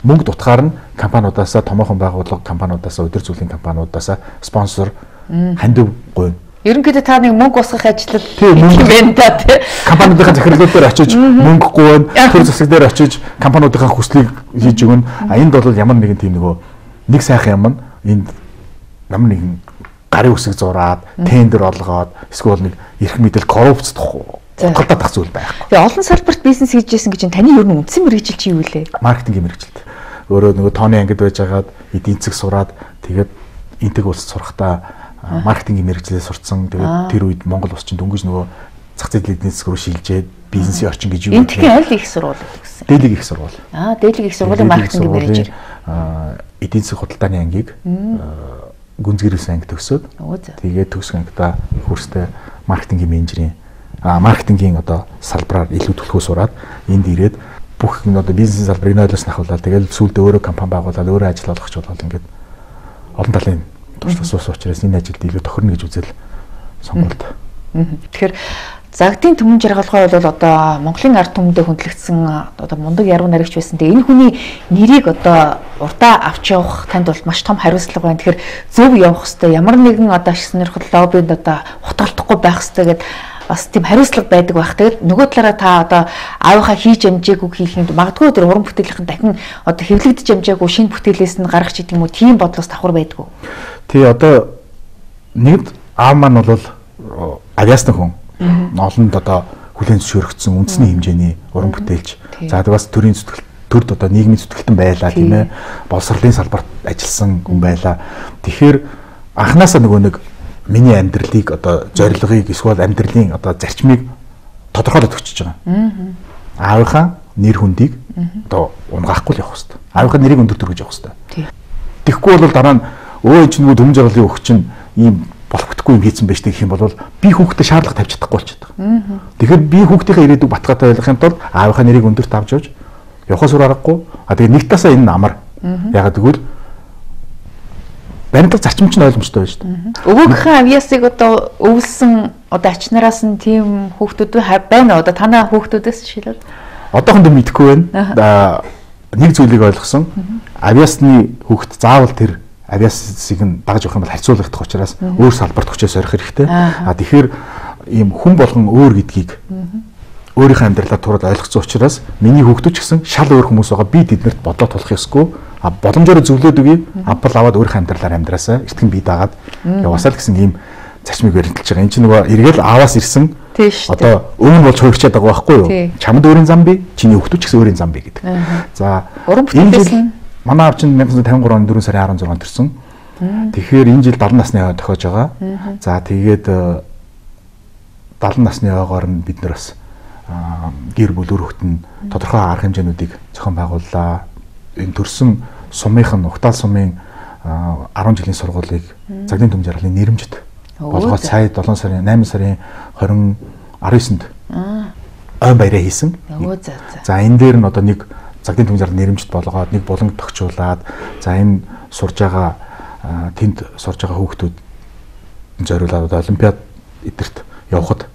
Мөнгө дутгаар нь компаниудаасаа, томоохон байгууллага компаниудаасаа, удир зүйлийн компаниудаасаа спонсор хандив гуйна. Ерөнхийдөө та нэг мөнгө усгах ажил юм байна та тий. Компаниудын захирлууд дээр очиж мөнгөгүй байна. Төр засаг дээр очиж компаниудын хүслийг хийж өгнө. А энд бол ямар нэгэн тийм нөгөө нэг сайхан юм энд ямар нэгэн гарын үсэг зураад тендер олгоод эсвэл нэг эрх мэдэл коррупц худалдаа тах зүйл байхгүй. Тэгээ олон салбарт бизнес хийж байсан гэж таны ер нь үндсэн мэргэжил чи юу лээ? Маркетингийн мэргэжилт. Өөрөө нөгөө тооны ангид байж хагаад эдийн засаг сураад тэгээд энтэг улс сурахдаа маркетингийн мэргэжлээ сурцсан. Тэгээд тэр үед Монгол улс чинь дөнгөж нөгөө зах зээлийн эдийн засаг руу шилжээд бизнесийн орчин гэж юу гэх юм. Энтгийн аль их сургууль гэсэн. Дээлэг их сургууль. Аа, дээлэг их сургуулийн маркетингийн мэргэжил. Аа, эдийн засаг худалдааны ангийг гүнзгийрээс анги төгсөөд тэгээд төгсөх ангидаа хөрстэй маркетингийн менежерийн а маркетингийн одоо салбараар илүү төлхөө сураад энд ирээд бүх энэ одоо бизнес салбарыг нойлоос нахуулаад тэгээд сүүлдээ өөрөө компани байгуулаад өөрөө ажил олгох ч болол ингээд олон талын туршлага суус учраас энэ ажилд илүү тохирно гэж үзэл сонголт. Тэгэхээр Загдын Түмэн Жаргалгой бол одоо Монголын ард түмэндээ хөндлөгдсөн одоо мундаг яруу найрагч байсан. Тэгээ энэ хүний нэрийг одоо урдаа авч явах танд бол маш том хариуцлага байна. Тэгэхээр зөв явах хэрэгтэй. Ямар нэгэн одоо ашиг сонирхол лоббинд одоо хутгалтахгүй байх хэрэгтэй гэдэг бас тийм хариуцлага байдаг байх. Тэгээд нөгөө талаараа та одоо аавынхаа хийж амжаагүй хийхэд магадгүй тэр уран бүтээлийнхэн дахин одоо хэвлэгдэж амжаагүй шинэ бүтээлээс нь гаргах ч гэдэг юм уу тийм бодлоос давхар байдгүй. Тий одоо нэгд аав маань бол авиасны хүн. Олонд одоо хүлээн зөвшөөрөгдсөн үндэсний хэмжээний уран бүтээлч. За тэгээд бас төрийн зүтгэл төрд одоо нийгмийн зүтгэлтэн байлаа тийм ээ. Боловсролын салбарт ажилласан хүн байлаа. Тэгэхээр анханасаа нөгөө нэг миний амьдралыг одоо зорилгыг эсвэл амьдралын одоо зарчмыг тодорхойлоод өгчөж байгаа. Аавынхаа нэр хүндийг одоо унгаахгүй л явах хэрэгтэй. Аавынхаа нэрийг өндөр төргөж явах хэрэгтэй. Тэгэхгүй бол дараа нь өө чинь нөгөө Түмэн Жаргалын өгч чинь ийм болох бүтгүй юм хийсэн байж гэх юм бол би хүүхдэд шаардлага тавьж чадахгүй болчиход байгаа. Тэгэхээр би хүүхдийнхээ ирээдүйг баталгаатай ойлгохын тулд аавынхаа нэрийг өндөрт авч явж явахаас өөр аргагүй. А тэгээ нэг тасаа энэ амар. Ягаад гэвэл баримтат зарчим чинь ойлгомжтой байна шүү дээ. Өвөөгийнхөө авьяасыг одоо өвлсөн одоо ачнараас нь тийм хүүхдүүд байна. Одоо танаа хүүхдүүдээс жишээлбэл одоохондоо мэдэхгүй байна. Нэг зүйлийг ойлгосон. Авьяасны хүүхд заавал тэр авиасыг нь дагаж явах юм бол харьцуулагдах учраас өөр салбарт хүчээ сорих хэрэгтэй. А тэгэхээр ийм хүн болгон өөр гэдгийг өөрийнхөө амьдралаар тураад ойлгоцсон учраас миний хүүхдүүд ч гэсэн шал өөр хүмүүс байгаа. Би тэднэрт бодлоо тулах ёсгүй. А боломжоор зөвлөд үгүй. Авбал аваад өөрийнхөө амьдралаар амьдраасаа эртгэн бие даагаад яваасаа л гэсэн ийм зарчмыг баримталж байгаа. Энд чинь нөгөө эргээл аваас ирсэн. Одоо өмнө болж хувирчаад байгаа байхгүй юу? Чамд өөрийн зам бий, чиний хүүхдүүд ч гэсэн өөрийн зам бий гэдэг. За энэ жил манай аав чинь найман тавин гурван дөрвөн сарын арван зургаанд төрсөн. Тэгэхээр энэ жил дадлан насны хаа тохиож байгаа. За тэгээд дадлан насны хаагаар нь бид нар бас гэр бүл өр хөвтөн тодорхой арга хэмжээнүүдийг зохион байгууллаа. Энэ төрсэн сумынх нь Угтаал сумын арван жилийн сургуулийг Загдын Түмэн Жаргалын нэрэмжит болгоод сая долоон сарын найман сарын хорин арван есэнд ой баяраа хийсэн. За энэ дээр нь одоо нэг Загдын Түмэн Жаргалын нэрэмжит болгоод нэг буланг тогтчуулаад за энэ сурж байгаа тэнд сурж байгаа хүүхдүүд зориулаад олимпиад эдэрт явахад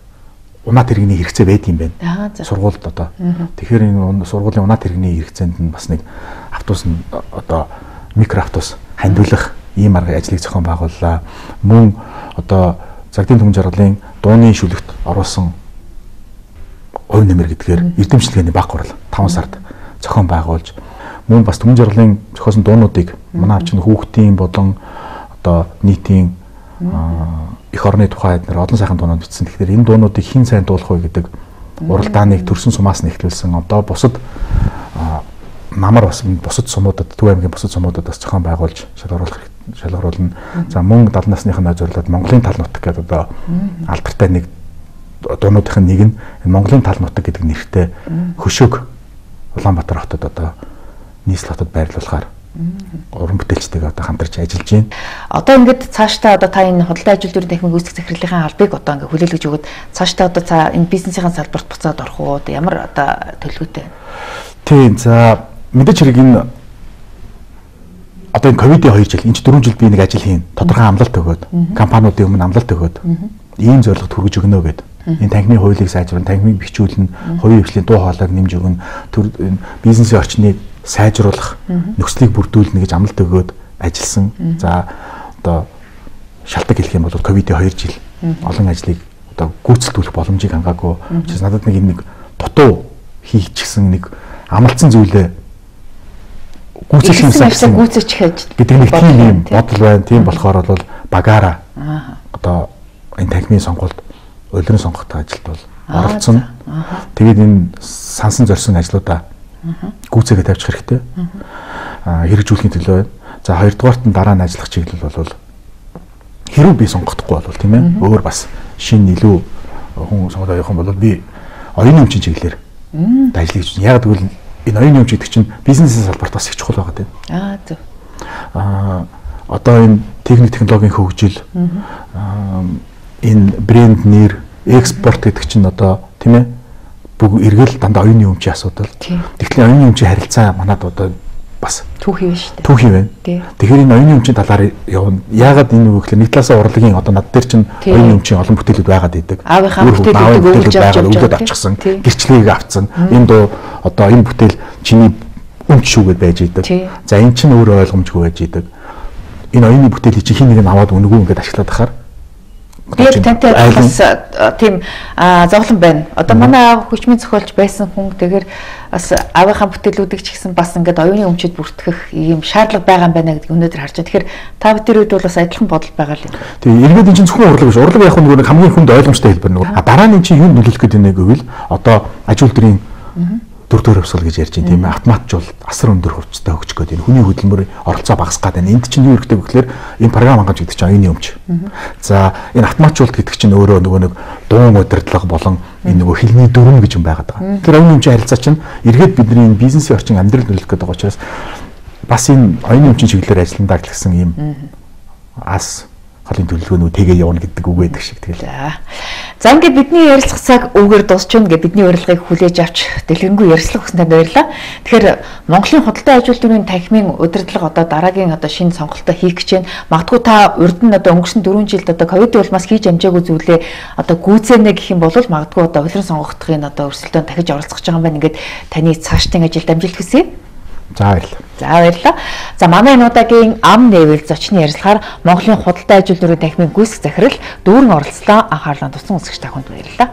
унаа тэрэгний хэрэгцээ байдаг юм байна. Сургуульд одоо. Тэгэхээр энэ сургуулийн унаа тэрэгний хэрэгцээнд нь бас нэг автобус нь одоо микроавтобус хандуулах ийм арга ажлыг зохион байгууллаа. Мөн одоо Загдын Түмэн Жаргалын дууны шүлэгт оруулсан хувь нэмэр гэдгээр эрдэмчлэгээний баг хурал таван сард зохион байгуулж мөн бас Түмэн Жаргалын зохиосон дуунуудыг манай авч нь хүүхдийн болон одоо нийтийн их орны тухай эдгээр олон сайхан дуунууд бичсэн. Тэгэхээр энэ дуунуудыг хэн сайн дуулах вэ гэдэг уралдааныг төрсэн сумаас нь эхлүүлсэн. Одоо бусад намар бас бусад сумуудад Төв аймгийн бусад сумуудад бас зохион байгуулж шалгаруулах шалгаруулна. За мөн дадлан насныхаа зориулаад Монголын тал нутаг гэдэг одоо алдартай нэг дуунуудын нэг нь Монголын тал нутаг гэдэг нэртэй хөшөөг Улаанбаатар хотод одоо нийслэл хотод байрлуулахаар уран бүтээлчтэйгээ одоо хамтарч ажиллаж байна. Одоо ингээд цаашдаа одоо та энэ худалдаа ажил дөрвөн техник үүсгэх захирлын албыг одоо ингээд хүлээлгэж өгöd цаашдаа одоо цаа энэ бизнесийн салбарт буцаад орох уу? Одоо ямар одоо төлөвлөгөөтэй? Тийм. За мэдээж хэрэг энэ одоо энэ ковидын хоёр жил, энэ ч дөрвөн жил би нэг ажил хийн. Тодорхой амлалт өгөөд, компаниудын өмнө амлалт өгөөд ийм зорилгот хүргэж өгнө гэдэг. Энэ танхимын хуулийг сайжруулна, танхимыг бичүүлнэ, хувийн хвшлийн дуу хоолойг нэмж өгнө, бизнесийн орчныг сайжруулах, нөхцөлийг бүрдүүлнэ гэж амлалт өгөөд ажилласан. За одоо шалтгаан хэлэх юм бол ковидын хоёр жил олон ажлыг одоо гүйцэтгүүлэх боломжийг хангаагүй. Чи надад нэг нэг дутуу хийчихсэн нэг амлцсан зүйлээ гүйцэтгэх юмсан гүйцэтгэх хийж гэдэг нэг тийм юм бодол байна. Тийм болохоор бол багаараа одоо энэ танхимын сонгуульд улиран сонгохтой ажилд бол оролцсон. Тэгээд энэ сансан зорьсон ажлуудаа гүйцээгээ тавьчих хэрэгтэй. Аа хэрэгжүүлэхийн төлөө байна. За хоёрдугаарт нь дараа нь ажиллах чиглэл бол хэрүү би сонгохдохгүй бол тийм ээ өөр бас шинэ илүү хүн сонгоод явах юм бол би оюуны өмчийн чиглэлээр ажиллаж байна. Яг тэгвэл энэ оюуны өмч гэдэг чинь бизнесийн салбарт бас их чухал байгаа тийм. Аа зөв. Аа одоо энэ техник технологийн хөгжил энэ брэнд нэр экспорт гэдэг чинь одоо тийм ээ бүгд эргэл дандаа оюуны өмчийн асуудал. Тэгэхээр оюуны өмчийн харилцаа манад одоо бас түүхий байна шүү дээ. Түүхий байна. Тэгэхээр энэ оюуны өмчийн талаар явна. Яагаад энэ үг гэхээр нэг талаасаа урлагийн одоо над дээр чинь оюуны өмчийн олон бүтээлүүд байгаад идэг. Аавынхаа бүтээлүүдийг өгүүлж авч өгөөд авчихсан. Гэрчлэгийг авцсан. Энэ доо одоо энэ бүтээл чиний өмч шүүгээд байж идэг. За эн чинь өөрөө ойлгомжгүй байж идэг. Энэ оюуны бүтээлийг чи хин нэг нь аваад өнгөө ингээд ашиглаад ахаар би тантай бас тийм зовлон байна. Одоо манай аав хүчмийн зохиолч байсан хүн тэгэхээр бас аавынхаа бүтээлүүдийг ч гэсэн бас ингээд оюуны өмчөд бүртгэх ийм шаардлага байгаа юм байна гэдгийг өнөөдөр харж байна. Тэгэхээр та бүхэн үед бол бас адилхан бодол байгаа л юм. Тийм эргээд энэ чинь зөвхөн урлаг биш. Урлаг яг нэг хамгийн хүнд ойлгомжтой хэлбэр нэг. А дараа нь чинь юу нөлөөлөх гэдэг нэг гэвэл одоо аж үйлдвэрийн дөрөвдөр хөвсгөл гэж ярьж байна тийм ээ автоматжуул асар өндөр хувцастай хөгжих гэдэг энэ хүний хөдөлмөрийн оролцоо багасгаад байна. Энд чинь юу хэрэгтэй вэ гэхээр энэ програм хангамж гэдэг чинь оюуны өмч. За энэ автоматжуулалт гэдэг чинь өөрөө нөгөө нэг дуун удирдлага болон энэ нөгөө хилний дүрм гэж юм байгаад байгаа. Тэгэхээр оюуны өмчийн харилцаа чинь эргээд бидний энэ бизнесийн орчин амьдрал нөлөөлөх гэдэг учраас бас энэ оюуны өмчийн чиглэлээр ажилландаа гэсэн ийм ас халын төлөвлөгөөнөө тэгээ явна гэдэг үг байдаг шиг тэгэл. За ингээд бидний ярилцах цаг үүгээр дуусч байна. Ингээд бидний урилгыг хүлээж авч дэлгэрэнгүй ярилцлага өгсөн танд баярлалаа. Тэгэхээр Монголын худалдаа аж үйлдвэрийн танхимын удирдлага одоо дараагийн одоо шинэ сонголтоо хийх гэж байна. Магадгүй та урд нь одоо өнгөрсөн дөрвөн жилд одоо ковид улмаас хийж амжаагүй зүйлээ одоо гүйцэнэ гэх юм бол магадгүй одоо улиран сонгогдохын одоо өрсөлдөөн дахиж оролцох гэж байгаа юм байна. Ингээд таны цаашдын ажилд амжилт хүсье. За баярлалаа. За баярлалаа. За манай энэ удаагийн ам нээвэл зочны ярилцлагаар Монголын худалдаа аж үйлдвэрийн танхимын гүйцэтгэх захирал дүүрэн оролцлоо анхаарлаа туссан үзэгч та бүхэнд баярлалаа.